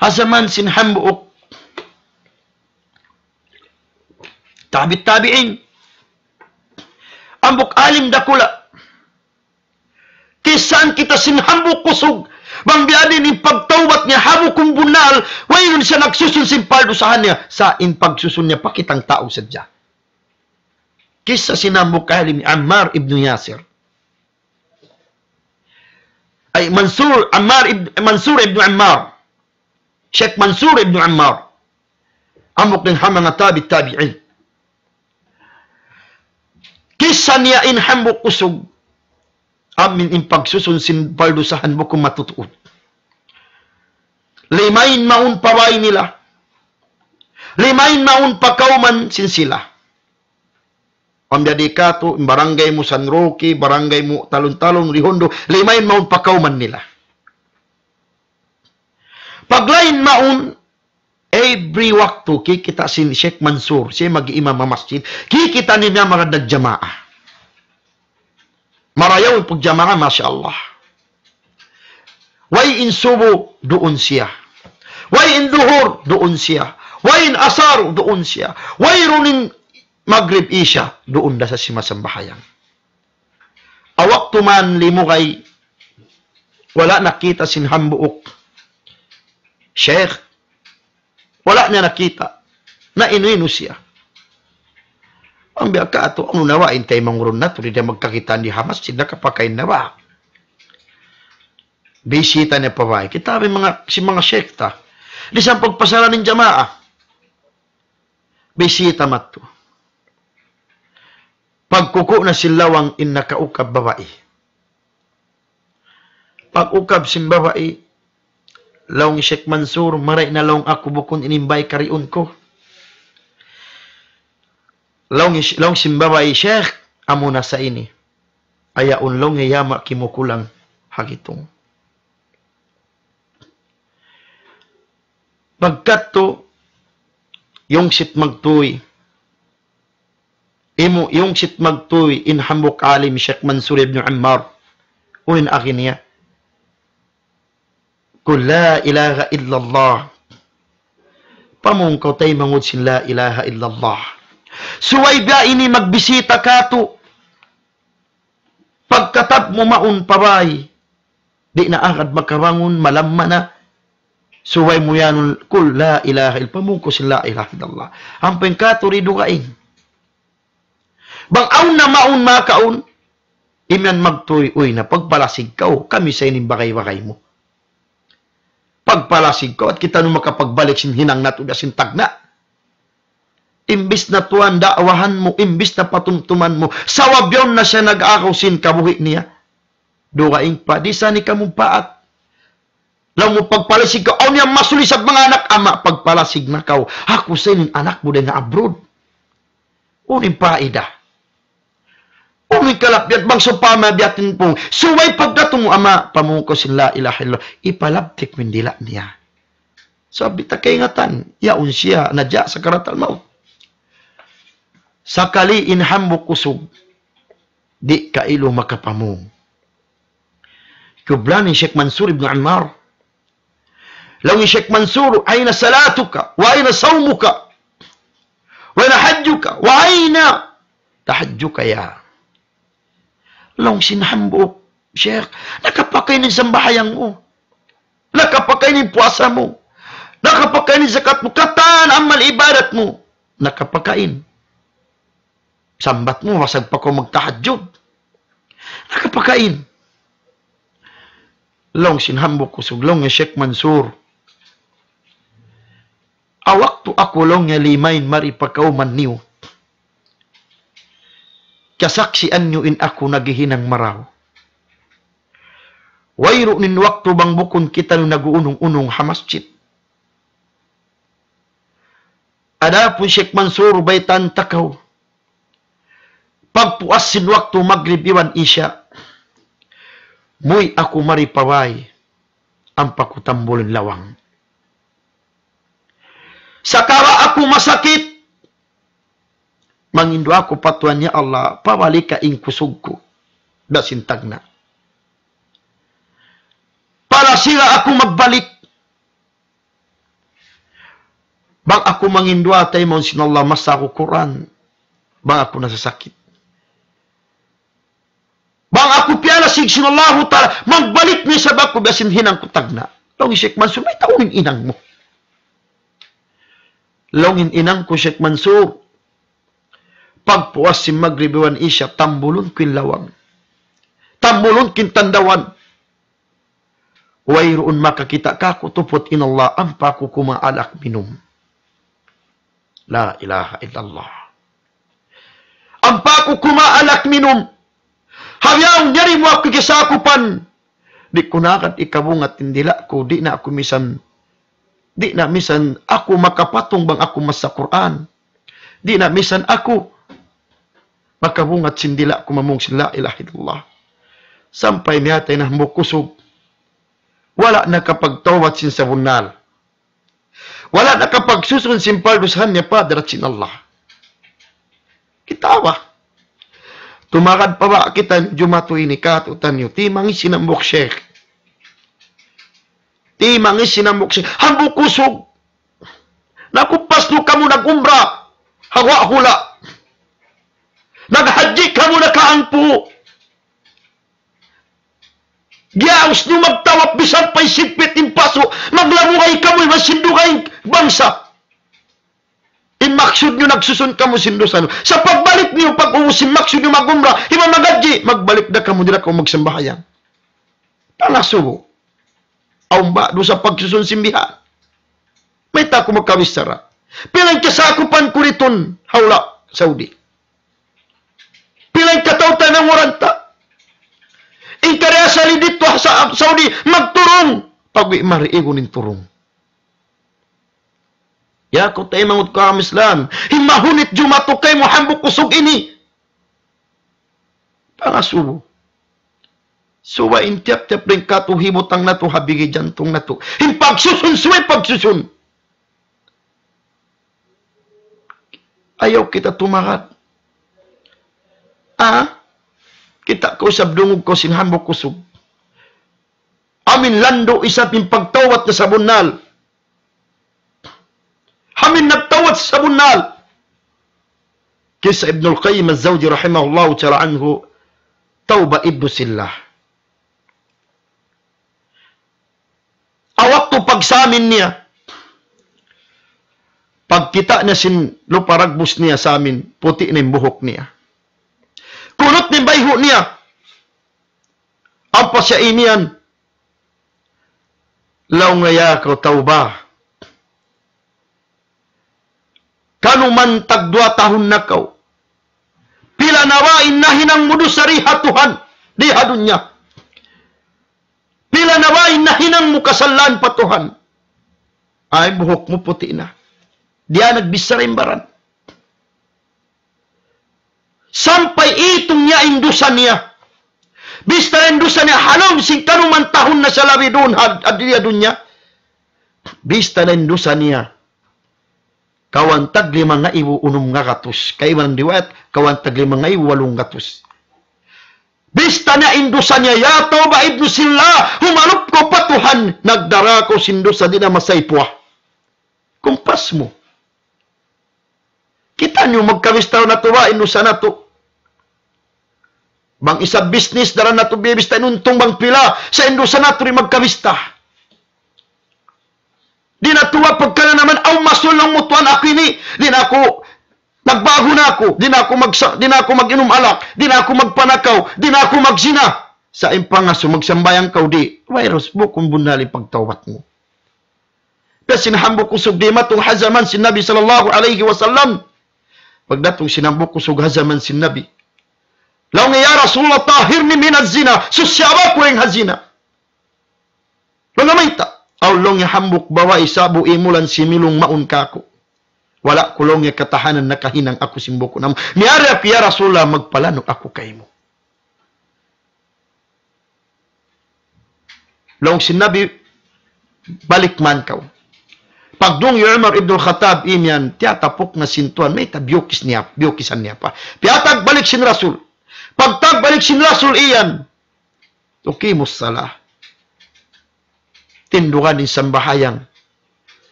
Ha jaman sin hambuuk tabi' tabi'in. Hambuuk alim dakula'. Kissahan kita sin hambuuk kusug. Bang biya' diin in pagtawbat niya, hambuuk bunnal, wayruun siya nagsusun sin pardusahan niya. Sa' in pagsusun niya, pa kitang tau sadja. Kissa sin hambuuk alim, Ammar ibn Yasir. Ay, Mansur, Ammar ibn, Mansur ibn Ammar. Sheikh Mansur ibn Ammar. Hambuuk dayn ha manga tabi' tabi'in. Kissa niya in hambuuk kusug. Amin in pagsusun sin pardusahan bukun matutuud. Lima in mawn pa bāy nila. Lima in mawn pa kawman sin sila. Ambiya' di katu', in barangay mu San Roque, barangay mu Talon-Talon, Redondo, lima in mawn pa kawman nila. Paglain mawn, every waktu, kikita' sin Sheikh Mansur, siya mag-iimam ha masjid, kikita' niya manga nagjamaa. Marayaw in pagjamaa, masha Allah. Way in subu, duun siya. Way in duhur, duun siya. Way in asar, duun siya. Wayruun in magrib, isya, duun da sa simasambahayang. Ha waktu man limugay, wala' nakita' sin hambuuk sheikh. Wala' niya nakita'. Na inu-inu siya. Ambiya' katu', unu na ba in taymanghud natu', di' da magkakitaan di ha masjid, nakapakain na ba? Bisita niya pa bāy. Kita' in manga, sin manga sheikh ta. Di' sa pagpasalan in jamaa. Bisita madtu. Pagkuku' na sin lawang in nakaukab babai. Pag-ukab sin babai, laung Sheikh Mansur, marayaw na laung aku bukun ini in bāy kariun ku. Laung, laung sin babai, Sheikh, amu na sa ini. Ayaun laung niya yama' kimukulang ha gitung. Pagkadtu, yungsit magtuy. Imu, yungsit magtuy in hambuuk alim Sheikh Mansur ibn Ammar. Unu in agi niya? Qul la ilaha illallah. Pamung kaw taymanghud sin la ilaha illallah. Subay biya' ini magbisita katu'. Pagkatab mu mawn pa bāy, di' na agad makabangun, malamma na. Subay mu iyanun, qul la ilaha ill-, pamung kaw sin la ilaha illallah. Ampa in katu' di' dugaing. Bang awn na mawn makaun, imiyan magtuy, uy na, pagpalasig kaw, kami sa ini in bagay-bagay mu. Pagpalasig kaw, at kitaniyu makapagbalik sin hinang natu' da sin tagna'. Imbis na tuwan da'wahan mu, imbis na patumtuman mu, sabab yaun na siya nag-agaw sin kabuhi' niya. Dugaing pa, di' sa ini kamumpaat. Laung mu pagpalasig kaw, awn niya mas lisag manga anak, ama', pagpalasig na kaw. Aku sa ini in anak mu dayn ha abroad. Unu in paida? Unu in kalappian bang sawpama biya' ha yan pung? Subay pagdatung mu, ama', pamung kaw sin la ilaha illallah. Ipalabtik mu in dila' niya. Sabab di' ta kaingatan, yaun siya, naja' sakaratul maut. Sakali in hambuuk kusug, di' kailu makapamung. Kiyublan hi Sheikh Mansur ibn Ammar. Laung hi Sheikh Mansur, أين صلاتك؟ وأين صومك؟ وأين حجك؟ وأين تحجك يا؟ Laung sin hambuuk, Sheikh, nakapakain in sambahayang mu. Nakapakain in puasa mu. Nakapakain in zakat mu. Katan amal ibadat mu. Nakapakain. Sambat mu, wasag pa kaw magtahajjud. Nakapakain. Laung sin hambuuk kusug, laung niya Sheikh Mansur. Waktu aku laung niya limain mari pa kawman niyu. Kasaksian niyu in aku naghihinang marayaw. Wayruun in waktu bang bukun kitaniyu nag-uunung-unung ha masjid. Adapun Sheikh Mansur, baytaan ta kaw. Pagpuas sin waktu magrib iban isya, muwi' aku mari pa bāy, ampa ku tambul in lawang. Sagawa' aku masakit, mangindu' aku pa Tuhan, "Ya Allah, pabalika in kusug ku, da sin tagna'." Palasiga aku magbalik. Bang aku mangindu' ha taymaun sin Allah, masa aku Qur'an. Bang aku nasasakit. Bang aku piyalasig sin Allahu Ta'ala, magbalik na isab aku biya' sin hinang ku tagna'. Laung hi Sheikh Mansur, "Mayta' unu in hinang mu?" Laung in hinang ku, Sheikh Mansur, pagpuas sin magrib iban isya, tambulun ku in lawang. Tambulun ku in tandawan. Wayruun makakita' kāku' tuput in Allah, ampa aku kumawa' alak minum. La ilaha illallah. Ampa aku kumawa' alak minum. Ha bihaun, yari mu aku kiyasakupan. Di' ku na agad hikabungat in dila' ku, di' na aku misan, di' na misan aku makapatung bang aku masa Qur'an. Di' na misan aku makabungat sin dila' ku mamung sin la ilaha illallah. Sampay miyatay na hambuuk kusug. Wala' nakapagtawbat sin sabunnal. Wala' nakapagsusun sin pardusahan niya pa hadarat sin Allah. Kita' ba? Tumagad pa ba kita jumatu ini katu' taniyu? Timangis in hambuuk sheikh. Timangis in hambuuk sheikh. Hambuuk kusug. Nakupas nu kamu nag-umrah. Hawa hula'. Naghajji kamu nakaangpu'. Giyaus niyu magtawaf bisan pa isigpit in pasu', maglamugay kamu iban sin dugaing bangsa. In maksud niyu nagsusun kamu sin dusa niyu. Sa' pagbalik niyu, pag-ubus sin maksud niyu mag-umrah, iban maghajji, magbalik da kamu, di' da kamu magsambahayang. Pangasubu. Awn ba dusa pagsusun sin bihan? Mayta' aku makabichara? Pila in kasakupan ku didtu ha hula' Saudi? Pila in katau ta nanguran ta? In kari asali didtu ha Sa-, Saudi, magturung. Pag-uwi' mari igun in turung. Ya kaw taymanghud ku ha agama Islam, in mahunit jumatu kaymu hambuuk kusug ini. Pangasubu. Subay in tiyap-tiyap dayn kātu' hibutang natu' ha bigi jantung natu'. In pagsusun, subay pagsusun. Ayaw kita tumagad. Ah? Kita' kaw isab dungug kaw sin hambuuk kusug. Amu in landu' isab in pagtawbat na sabunnal. Amu in nagtawbat sabunnal. Kisa Ibnul Qayyim Az-Zawji rahimahullahu ta'ala anhu, tawbat Ibnu Sillah. Waktu pagsamin niya, pagkita' niya sin lupa dagbus niya samin, puti' na in buhuk niya. Kunut na in bayhu' niya. Ampa siya imiyan, laung niya, "Ya kaw tau ba, kanuman tagduwa tahun na kaw. Pila na ba in nahinang mu dusa di ha Tuhan, di ha dunya? Pila na ba in nahinang mu kasalaan pa Tuhan?" Ay, buhuk mu puti' na. Di' na nagbichara in baran. Sampay itung niya in dusa niya. Bista in dusa niya, ha lawm sin kanuman tahun na siya labi duun ha, ha dunya. Bista in dusa niya, kawhaan tag lima ngaibu unum ngagatus. Kaibanan riwayat, kawhaan tag lima ngaibu walung gatus. Bista niya in dusa niya, "Ya tau ba Ibnu Sillah, humalup kaw pa Tuhan, nagdara kaw sin dusa di' na masaypuwa." Kumpas mu. Kita' niyu magkabista natu' ba in dusa natu'. Bang isab business, daran natu' biyabista in untung bang pila, sa' in dusa natu' di' magkabista. Di' na tuud pagkananaman, aw masul laung mu tuwan aku ini. Di' na aku, nagbago na aku. Di' na aku magsa-, di' na aku mag-inum alak. Di' na aku magpanakaw. Di' na aku magzina. Sa' in pangasubu magsambahayang kaw di', way ra, bukun bunnal in pagtawbat mu. Biya' sin hambuuk usug dimatung ha jaman sin Nabi sallallahu alayhi wasallam. Pagdatung sin hambuuk usug ha jaman sin Nabi. Laung niya, "Ya Rasulullah, طهرني من الزنا. Susiha aku dayn ha zina." Laung niya, "Mayta'?" "Awn," laung niya, "hambuuk babai sa'bu imulan similung mawn kāku'. Wala' ku," laung niya, "katahanan, nakahinang aku sin bukun amu. Miyari aku, ya Rasulullah, magpalanuk aku kaymu." Laung sin Nabi, "Balik man kaw." Pagdung hi Umar ibn al-Khattab imiyan, tiyatapuk na sin tuwan, mayta' biyukis niya, biyukisan niya pa. Piyatag balik sin Rasul. Pagtag balik sin Rasul iyan, "Tuqimus salah." Tindugan in sambahayang.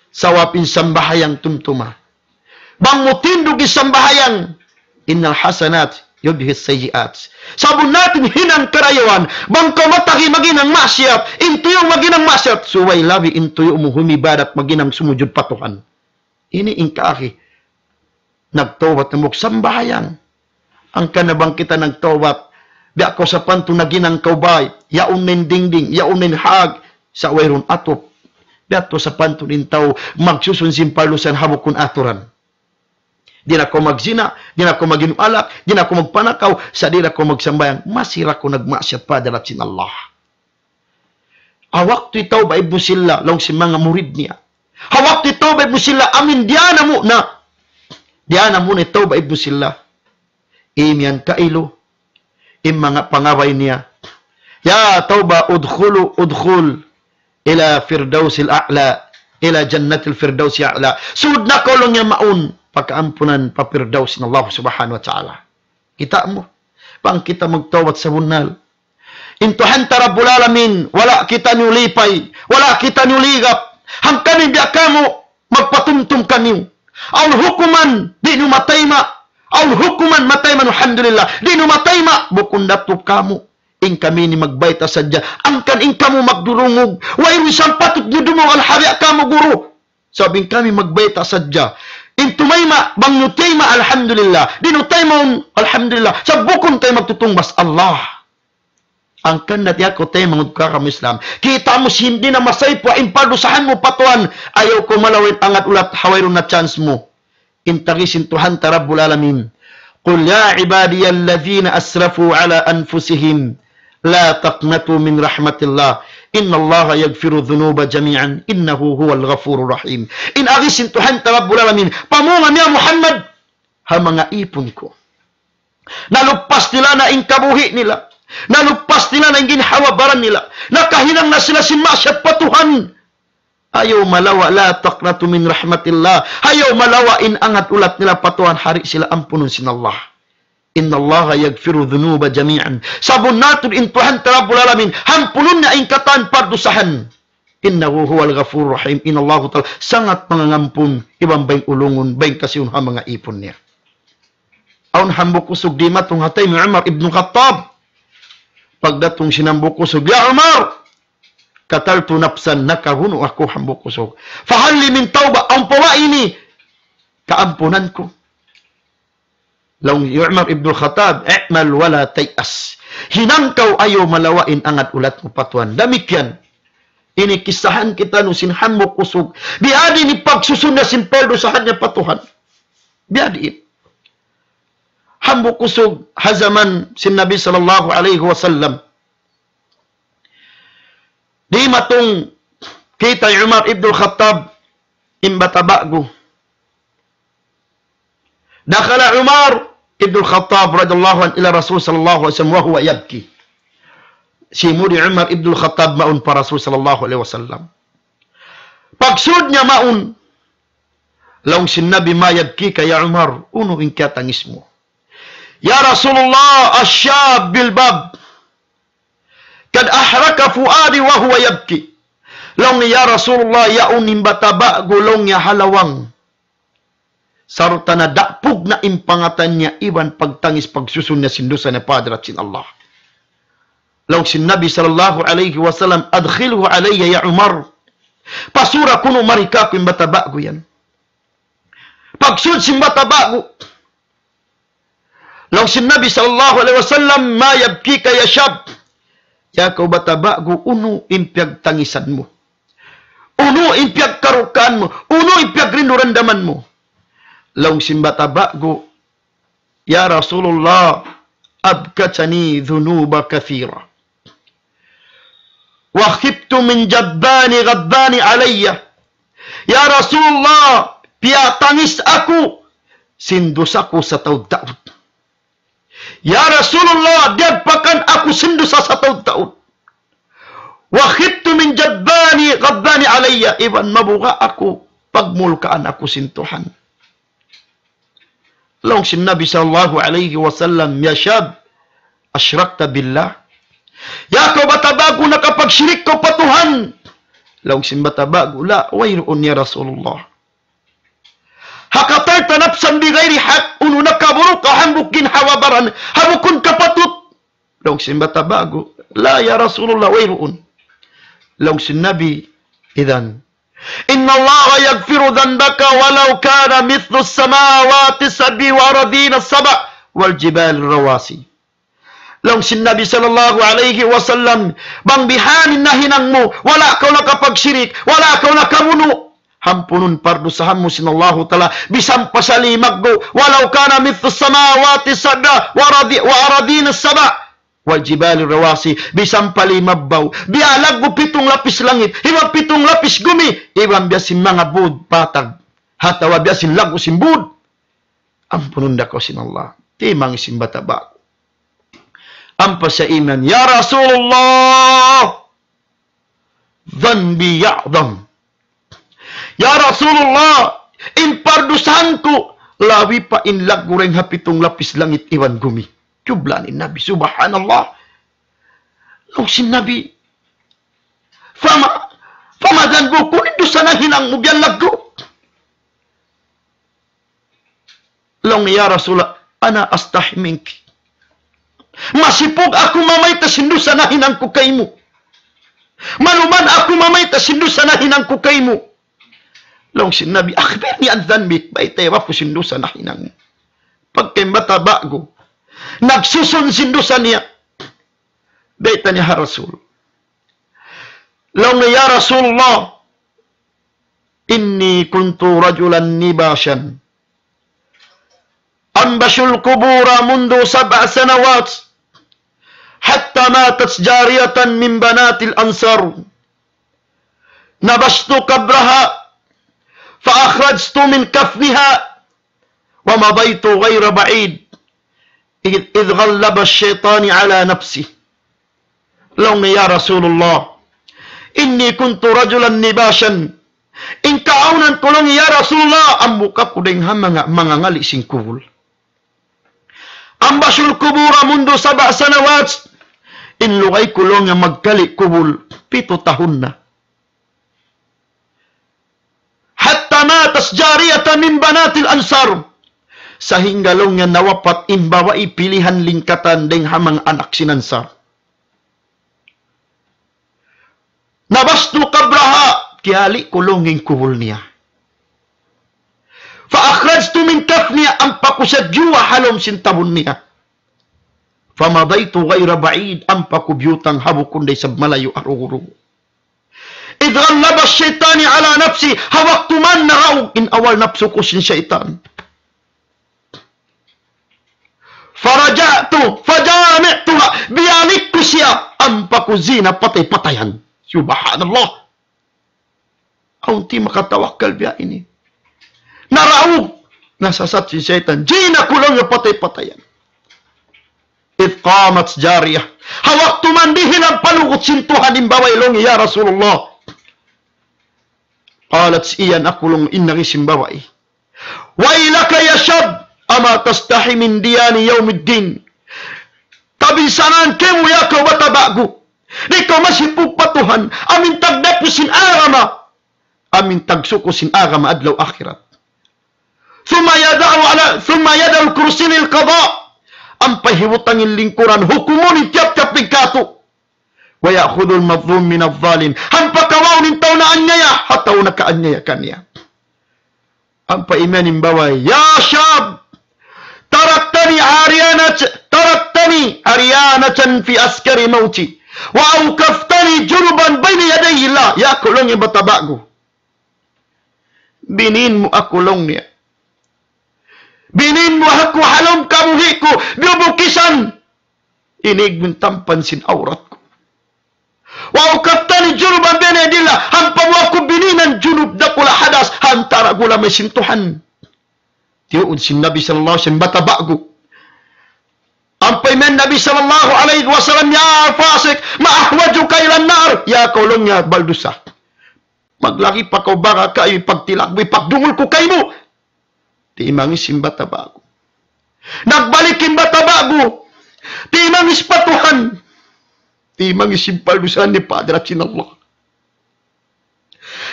Sabab in sambahayang tumtuma. Bang mu tindug in sambahayang, "Innal hasanat yudhibnas sayyiat." Sabunnal in hinang karayawan, bang kaw matagi maghinang maksiyat, in tuyu' maghinang maksiyat, subay labi in tuyu' mu humibadat maghinang sumujud pa Tuhan. Ini in kaagi. Nagtawbat hambuuk sambahayang. Hangkan na bang kita nagtawbat, biya' kaw sapantun naghinang kaw bay, yaun na in dingding, yaun na in hag, sa' wayruun atup. Biya' tu sapantun in tau magsusun sin pardusahan ha bukun aturan. Di' na kaw magzina, di' na kaw mag-inum alak, di' na kaw magpanakaw, sa' di' na kaw magsambahayang, masi ra kaw nagmaksiyat pa hadarat sin Allah. Ha waktu hi Tawbah ibnu Silla, laung sin manga murid niya. Ha waktu hi Tawbah ibnu Silla, amin diyā na muna. Diyā na muna hi Tawbah ibnu Silla. Imiyan kailu. In manga pangabay niya. "Ya Tawbah, udkhulu, udkhul ila firdausil a'la, ila jannatil firdausil a'la." Sud na kaw laung niya mawn, pakaampunan pa Firdaus sin Allah Subhanahu wa Ta'ala. Kita' mu, bang kita magtawbat sabunnal. In Tuhan ta Rabbul Alamin, wala' kitaniyu lipay, wala' kitaniyu ligap. Hangkan in biya' kamu, magpatumtum kaniyu. Awn hukuman, di' niyu matayma'. Awn hukuman, matayma', alhamdulillah. Di' niyu matayma', bukun da tuud kamu. In kami ini magbayta' sadja. Hangkan in kamu magdurungug. Wayruun isab patut niyu dumungug, alhamdulillah kamu guru. Sabab in kami magbayta' sadja. In tumayma', bang niyu tayma', alhamdulillah. Di' niyu taymaun, alhamdulillah. Sa' bukun kami magtutungbas, Allah. Hangkan na tiya' ku taymanghud ku ha agama Islam. Kita' mu sin di' na masaypu in pardusahan mu pa Tuhan. Ayaw kaw malawa' in angat ulat ha wayruun na chance mu. In tagi sin Tuhan ta Rabbul Alamin. قل يا عبادي الذين أسرفوا على أنفسهم لا تقنطوا من رحمة الله إن الله يغفر الذنوب جميعا إنه هو الغفور الرحيم. In agi sin Tuhan ta Rabbul Alamin. Pamung niya Muhammad. Ha manga ipun ku. Naluppas nila na in kabuhi' nila. Naluppas nila na in ginhawa-baran nila. Nakahinang na sila sin maksiyat pa Tuhan. Ayaw malawa', لا تقنطوا من رحمة الله. Ayaw malawa' in angat ulat nila pa Tuhan, ha di' sila ampunun sin Allah. إن الله يغفر الذنوب جميعا. Sabunnal tuud in Tuhan ta Rabbul Alamin, ampunun niya in katan pardusahan. إنه هو الغفور الرحيم. In Allahu Ta'ala sangat mangangampun, iban bayng ulungun, bayng kasihun ha manga ipun niya. Awn hambuuk usug dimatung ha tayma' hi Umar ibn Khattab. Pagdatung sin hambuuk usug, "Ya Umar, قتلت نفسا, nakabunu' aku," hambuuk usug. "فهل لي من توبة, awn pa ba ini kaampunan ku?" Laung hi Umar ibn Khattab, "اعمل ولا تيأس." Hinang kaw, ayaw malawa' in angat ulat mu pa Tuhan. Damikkiyan. Ini kissahan kitaniyu sin hambuuk usug. Biya' diin in pagsusun niya sin pardusahan niya pa Tuhan. Biya' diin. Hambuuk usug ha jaman sin Nabi sallallahu alayhi wasallam. Dimatung kita hi Umar ibn Khattab in bata' ba'gu. دخل عمر بن الخطاب رضي الله عنه إلى رسول صلى الله عليه وسلم وهو يبكي. Simud hi Umar ibn Khattab mawn pa Rasul sallallahu alayhi wasallam. Pagsud niya mawn, laung sin Nabi, ما يبكيك يا عمر, unu in kiyatangis mu? يا رسول الله، الشاب بالباب قد أحرق فؤادي وهو يبكي. Laung niya, "Ya Rasulullah, yaun in bata' ba'gu," laung niya, "ha lawang. Sarta' na dapug na in pangatan niya iban pagtangis pagsusun niya sin dusa niya pa hadarat sin Allah." Laung sin Nabi sallallahu alayhi wasallam, "أدخله علي يا عمر." Pasura kunu' mari kāku' in bata' ba'gu yan. Pagsud sin bata' ba'gu. Laung sin Nabi sallallahu alayhi wasallam, ما يبكيك يا شاب. Ya kaw bata' ba'gu, unu in piyagtangisan mu? Unu in piyagkarukaan mu? Unu in piyagrindu-randaman mu? Laung sin bata' ba'gu, يا رسول الله، أبكتني ذنوب كثيرة، وخفت من جذبان غضبان علي. Ya Rasulullah, piyatangis aku sin dusa ku sataud-taud. Ya Rasulullah, diyagpakan aku sin dusa sataud-taud. وخفت من جذبان غضبان علي. Iban mabuga' aku, pagmulkaan aku sin Tuhan. Laung sin Nabi sallallahu alayhi wasallam, يا شاب، أشركت بالله؟ Ya kaw bata' ba'gu, nakapagsirik kaw pa Tuhan? Laung sin bata' ba'gu, لا, wayruun ya Rasulullah. Ha qatalte nafsan bighairi haqq, unu nakaburu' ka hambuuk ginhawa-baran, ha bukun kapatut. Laung sin bata' ba'gu, لا يا رسول الله, wayruun. Laung sin Nabi, إذن إن الله يغفر ذنبك ولو كان مثل السماوات السبع والأرضين السبع والجبال الرواسي. Laung sin Nabi sallallahu alayhi wasallam, bang bihan in nahinang mu, wala' kaw nakapagsirik, wala' kaw nakabunu', ampunun pardusahan mu sin Allahu Ta'ala, bisan pa sa limaggu', ولو كان مثل السماوات السبع والأرض-، والأرضين السبع والجبال الرواسي, bisan pa limabbaw, biya' laggu' pitung lapis langit, iban pitung lapis gumi, iban biya' sin manga būd patag, atawa biya' sin laggu' sin būd, ampunun da kaw sin Allah. Timangis in bata' ba'gu. Ampa siya iman, يا رسول الله، ذنبي أعظم. Ya Rasulullah, in pardusahan ku, labi pa in laggu' dayn ha pitung lapis langit iban gumi. Jublaan in Nabi, subhanallah. Laung sin Nabi, فما، فما ذنبك, unu in dusa nahinang mu biya' laggu'? Laung niya, "Ya Rasulullah, أنا أستحي منك. Masipug aku mamayta' sin dusa nahinang ku kaymu. Maluman aku mamayta' sin dusa nahinang ku kaymu." Laung sin Nabi, "أخبرني عن ذنبك, baytai aku sin dusa nahinang mu." Pagka in bata' ba'gu nagsusun sin dusa niya, bayta' niya ha Rasul. Laung niya, "Ya Rasulullah, إني كنت رجلا نباشا أنبش القبور منذ سبع سنوات حتى ماتت جارية من بنات الأنصار. نبشت قبرها فأخرجت من كفنها ومضيت غير بعيد إذ، إذ غلب الشيطان على نفسي." Laung niya, "Ya Rasulullah, إني كنت رجلا نباشا. In kaawnan ku," laung niya, "ya Rasulullah, hambuuk aku dayn ha manga, mangangali' sin kubul. أنبش القبور منذ سبع سنوات. In lugay ku," laung niya, "magkali' kubul, pitu tahun na. حتى ماتت جارية من بنات الأنصار. Sahingga," laung niya, "nawapat in babai pilihan lingkatan dayn ha manga anak sin Ansar. نبشت قبرها, kiyali' ku," laung niya, "in kubul niya. فأخرجت من كفنها, ampa ku siya diyuwa ha lawm sin tabun niya. فمضيت غير بعيد, ampa ku biyutang ha bukun da isab malayu' arugu-rugu. إذ غلب الشيطان على نفسي, ha waktu man naraug in awal napsu ku sin saytan. فرجعت فجامعتها, biyalik ku siya, ampa ku zina patay-patayan." Subhanallah. Awn di' makatawakkal biya' ini. Naraug, nasasat sin saytan. Zina ku, laung niya, patay-patayan. إذ قامت جارية. Ha waktu man dihilan panugut sin Tuhan in babai, laung niya, "Ya Rasulullah, قالت," iyan aku, laung, in agi sin babai, "ويلك يا شاب، أما تستحي من ديان يوم الدين. Kabinsanaan kaymu, ya kaw bata' ba'gu. Di' kaw masipug pa Tuhan, amu in tagdapu sin agama, amu in tagsuku sin agama adlaw akhirat." ثم يدع على، ثم يدع الكرسي للقضاء. Ampa hibutang in lingkuran, hukumun in tiyap-tiyap in katu'. ويأخذ المظلوم من الظالم. Ampa kawaun in tau naanyaya ha tau nakaanyaya kaniya. Ampa imiyan in babai, "يا شاب، تركتني عريانة، تركتني عريانة في عسكر موتي، وأوقفتني جنبا بين يدي الله." Ya kaw laung niya bata' ba'gu. Binin mu aku laung niya. Binin mu aku ha lawm kabuhi' ku, biyubukisan. Ini in tampan sin awrat ku. "وأوقفتني جنبا بين يدي الله." Ampa mu aku bininan junub dakula' hadas, ha antara' ku lamay sin Tuhan. Tiyuun sin Nabi sallallahu alayhi wasallam bata' ba'gu. Ampa imiyan Nabi sallallahu alayhi wasallam, "يا فاسق، ما أحوجك إلى النار." Ya kaw laung niya baldusa. Maglagi pa kaw baga kayu, ipagtilak mu, ipagdungul ku kaymu. Timangis in bata' ba'gu. Nagbalik in bata' ba'gu. Timangis pa Tuhan. Timangis in paldusahan niya pa hadarat sin Allah.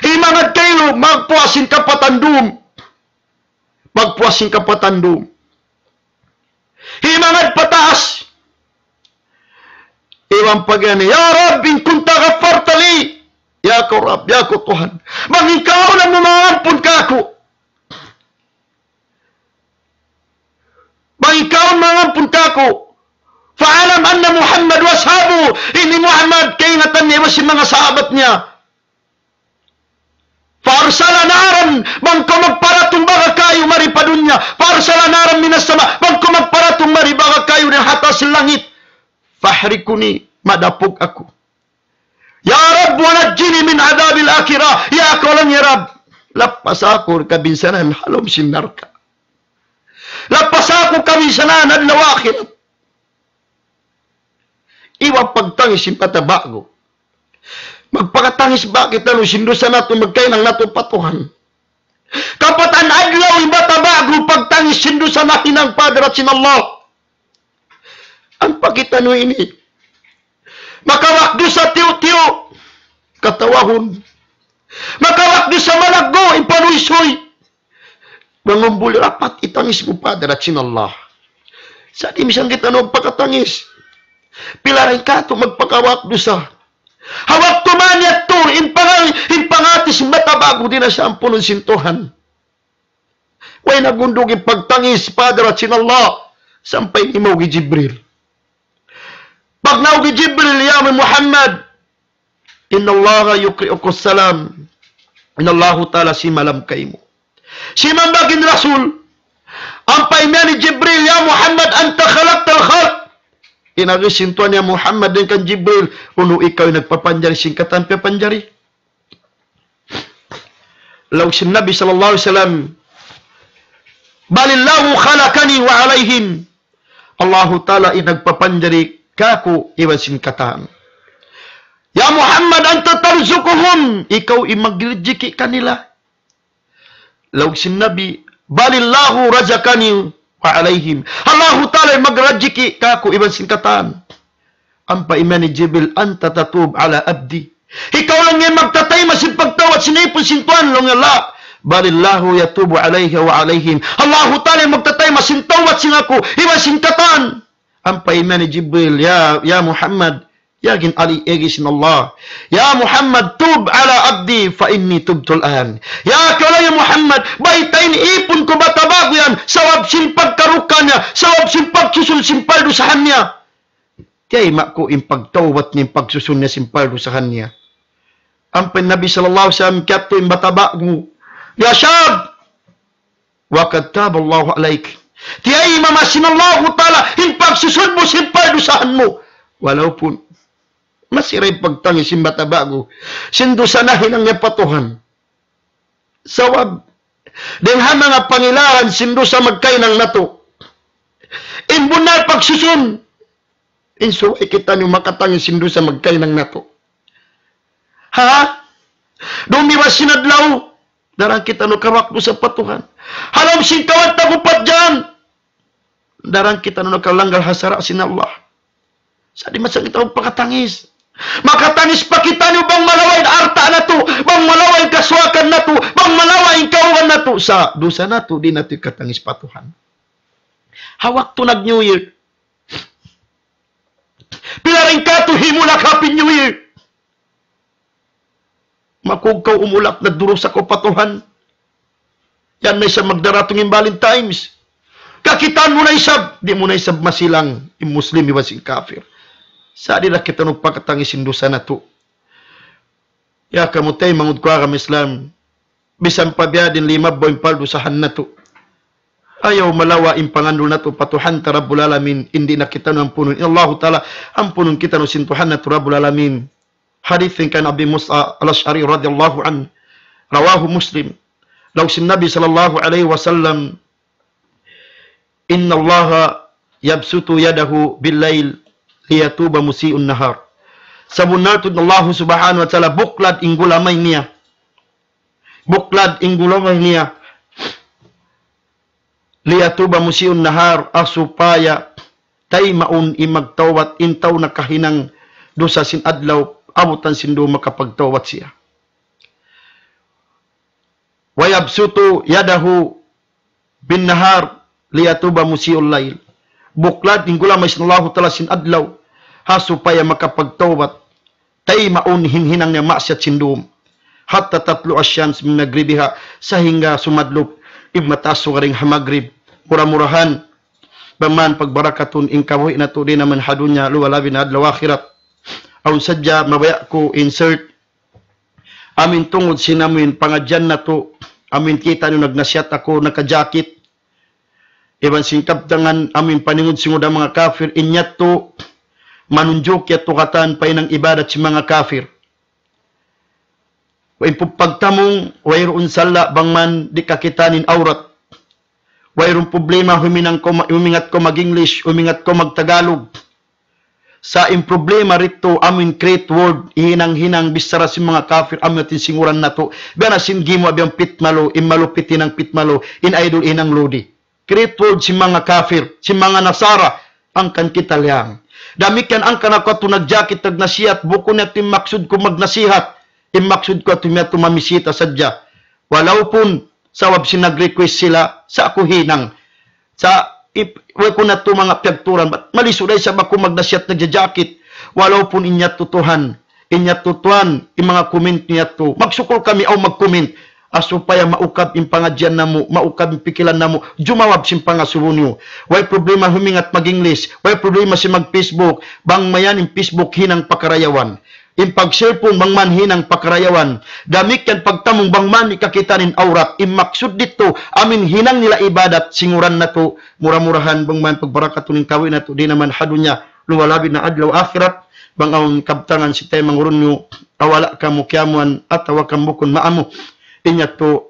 Himangad kaylu, magpuas in kapatan dum. Magpuas in kapatan dum. Himangad pataas. Iban pag'iyan, "يا رب إن كنت غفرت لي." Ya kaw Rabb, ya kaw Tuhan. Bang in kaw na mu mangampun kaku'. Bang in kaw mangampun kaku'. فاعلم أن محمدا وأصحابه. Ini Muhammad, kaingatan niya iban sin manga sahabat niya. فأرسل نارا, bang kaw magparatung baga kayu mari pa dunya. فأرسل نارا من السماء, bang kaw magparatung mari baga kayu dayn ha taas langit. فأحرقني, madapug aku. يا رب ونجني من عذاب الآخرة. Ya kaw laung niya Rabb, lapasa aku kabinsanaan ha lawm sin narka'. Lapasa aku kabinsanaan adlaw akhirat. Iban pagtangis sin bata' ba'gu. Magpakatangis ba kitaniyu sin dusa natu', magkahinang natu' pa Tuhan? Kapatan adlaw in bata' ba'gu pagtangis sin dusa nahinang pa hadarat sin Allah. Ampa kitaniyu ini. Makawak dusa tiyu'-tiyu'. Katawahun. Makawak dusa malaggu', in panuysuy. Mangumbul dapat itangis mu pa hadarat sin Allah. Sa' di' misan kitaniyu magpakatangis. Pila dayn katu' magpakawak dusa. Ha waktu man yadtu, in pangal-, in panghati sin bata' ba'gu di' na siya ampunun sin Tuhan. Way nagundug in pagtangis pa hadarat sin Allah. Sampay nimaug hi Jibril. Pagnaug hi Jibril, "Ya Muhammad, إن الله يقرئك السلام." In Allahu Ta'ala simalam kaymu. Simambag in Rasul. Ampa imiyan hi Jibril, "يا محمد أنت خلقت الخلق." In agi sin Tuhan, "Ya Muhammad," dayn kan Jibril, "unu ikaw in nagpapanjari sin katan piyapanjari?" Laung sin Nabi sallallahu alayhi wasallam, "بل الله خلقني وعليهم." Allahu Ta'ala in nagpapanjari kaku' iban sin katan. "يا محمد أنت ترزقهم." Ikaw in magrijiki kanila. Laung sin Nabi, "بل الله رزقني وعليهم." Allahu Ta'ala in magrijiki kaku' iban sin katan. Ampa imiyan hi Jibril, "أنت تتوب على عبدي." Ikaw laung niya magtatayma' sin pagtawbat sin ipun sin Tuhan, laung niya, "لا. بل الله يتوب علي وعليهم." Allahu Ta'ala in magtatayma' sin tawbat sin aku, iban sin katan. Ampa imiyan hi Jibril, "Ya, ya Muhammad, ya gin ali egi sin Allah. يا محمد تب على عبدي فإني تبت الآن." Ya kaw laung niya Muhammad, baytai in ipun ku bata' ba'gu yan, sabab sin pagkarukan niya, sabab sin pagsusun sin paldusahan niya. Tiyayma' ku in pagtawbat niya, in pagsusun niya sin paldusahan niya. Ampa in Nabi sallallahu alayhi wasallam kiyatu' in bata' ba'gu, "يا شاب، وقد تاب الله عليك." Tiyayma' sin Allahu Ta'ala in pagsusun mu sin paldusahan mu. Walaupun masi da in pagtangis sin bata' ba'gu sin dusa nahinang niya pa Tuhan. Sabab dayn ha manga pangilaran sin dusa magkahinang natu'. In bunnal pagsusun, in subay kitaniyu makatangis sin dusa magkahinang natu'. Ha? Dumiwa sin adlaw, daran kitaniyu kawak dusa pa Tuhan. Ha lawm sin kawhaan tag-upat jam, daran kitaniyu nakalanggal ha sara' sin Allah. Sa' di' masa kita magpakatangis. Makatangis pa kitaniyu bang malawa' in alta' natu', bang malawa' in kasuwakan natu', bang malawa' in kawhaan natu'. Sa' dusa natu', di' natu' ikatangis pa Tuhan. Ha waktu nag-New Year, pila dayn katu' himulak Happy New Year. Aku kaw umulak na durusa kaw pa Tuhan. Yan na isab magdaratung in Valentine's. Kakitaan mu na isab, di' mu na isab masilang in Muslim iban sin kafir. Sa' di' na kita nagpakatangis sin dusa natu'. Ya kamu taymanghud ku agama Islam. Bisan pa biya' diin limabay in paldusahan natu'. Ayaw malawa' in pangandul natu' pa Tuhan ta Rabbul Alamin, in di' na kitaniyu ampunun. In Allahu Ta'ala, ampunun kitaniyu sin Tuhan natu' Rabbul Alamin. Hadith kan Abi Musa al-Ash'ari radiyallahu anhu. Rawahu Muslim. Laung sin Nabi sallallahu alayhi wasallam, إن الله يبسط يده بالليل ليتوب مسيء النهار. Sabunnal tuud in Allahu Subhanahu wa Ta'ala buklad in gulamay niya. Buklad in gulamay niya. ليتوب مسيء النهار, ha supaya taymaun in magtawbat in tau nakahinang dusa sin adlaw, abutan sin dum makapagtawbat siya. ويبسط يده بالنهار ليتوب مسيء الليل. Buklad in gulamay sin Allahu Ta'ala sin adlaw, ha supaya makapagtawbat taymaun in hinang niya maksiyat sin dum. حتى تطلع الشمس من مغربها, sahingga sumadlup in mata sugaring ha magrib. Mura-murahan, bang man pagbarakatun in kabuhi' natu' di' naman ha dunya, luwal labi na adlaw akhirat. Awn sadja mabaya' ku insert amin tungud sin amin pangadjian natu', amin kitaniyu nagnasihat aku nakajakit. Iban sin kabtangan amin paningud sin uda manga kafir, in yadtu manunjuk yadtu katan pa hinang ibadat sin manga kafir. Wa in pagtamung, wayruun sala' bang man di' kakitaan in awrat. Wayruun problema, huminang kaw ma-, humingat kaw mag-English, humingat kaw mag-Tagalog. Sa' in problema didtu, amu in create word, hinang-hinang bichara sin manga kafir, amu in atin sin uran natu'. Biya' na sin gimuwa' biya' pitmalu, in malupit hinang pitmalu, in idol hinang lodi. Create word sin manga kafir, sin manga Nasara, hangkan kita liyang. Damikkiyan hangkan aku yadtu nagjakit, nagnasihat, bukun yadtu in maksud ku magnasihat. In maksud ku yadtu, yadtu mamisita sadja. Walaupun sabab sin nag-request sila, sa' aku hinang. Sa' ip-, way ku na yadtu manga piyagturan, bat malisu da isab aku magnasihat, nagjajakit. Walaupun in yadtu tuwan, in yadtu tuwan, in manga comment niya yadtu. Magsukul kami awn mag-comment. Ha supaya maukab in pangadjian namu', maukab in pikilan namu', jumawab sin pangasubu niyu. Way problema humingat mag-English, way problema sin mag-Facebook, bang mayan in Facebook hinang pakarayawan. In pag-cellphone bang man hinang pakarayawan. Damikkiyan pagtamung bang man di' kakitaan in awrat. In maksud didtu, amu in hinang nila ibadat sin uran natu', mura-murahan bang man pagbarakatun in kabuhi' natu', di' naman ha dunya, luwal labi na adlaw akhirat, bang awn kabtangan sin taymanghud niyu, ha wala' kamu kiyamuan, atawa kan bukun maamu. In yadtu,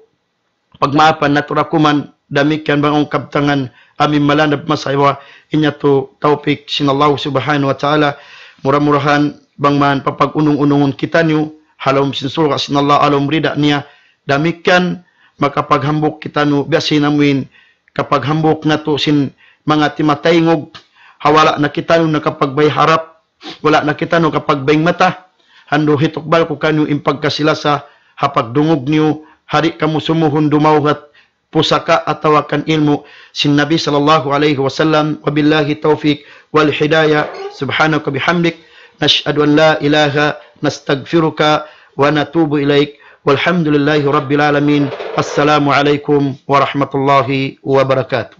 pagmaapan natu' da kuman, damikkiyan bang awn kabtangan, amu in malanab masawa, in yadtu tawpik sin Allah Subhanahu wa Ta'ala, mura-murahan bang man papag-unung-unungun kitaniyu, ha lawm sin surga' sin Allah, ha lawm rida niya, damikkiyan makapaghambuuk kitaniyu, biya' sin amu in kapaghambuuk natu' sin manga timataingug, ha wala' na kitaniyu nakapagbay harap, wala' na kitaniyu nakapagbay mata, andu' hitukbal ku kaniyu in pagkasi-lasa, ha pagdungug niyu, ha di' kamu sumuhun dumawhat, pusaka atawa kan ilmu' sin Nabi sallallahu alayhi wasallam. وبالله التوفيق والهداية. سبحانك وبحمدك، نشهد أن لا إله، نستغفرك ونتوب إليك. والحمد لله رب العالمين. السلام عليكم ورحمة الله وبركاته.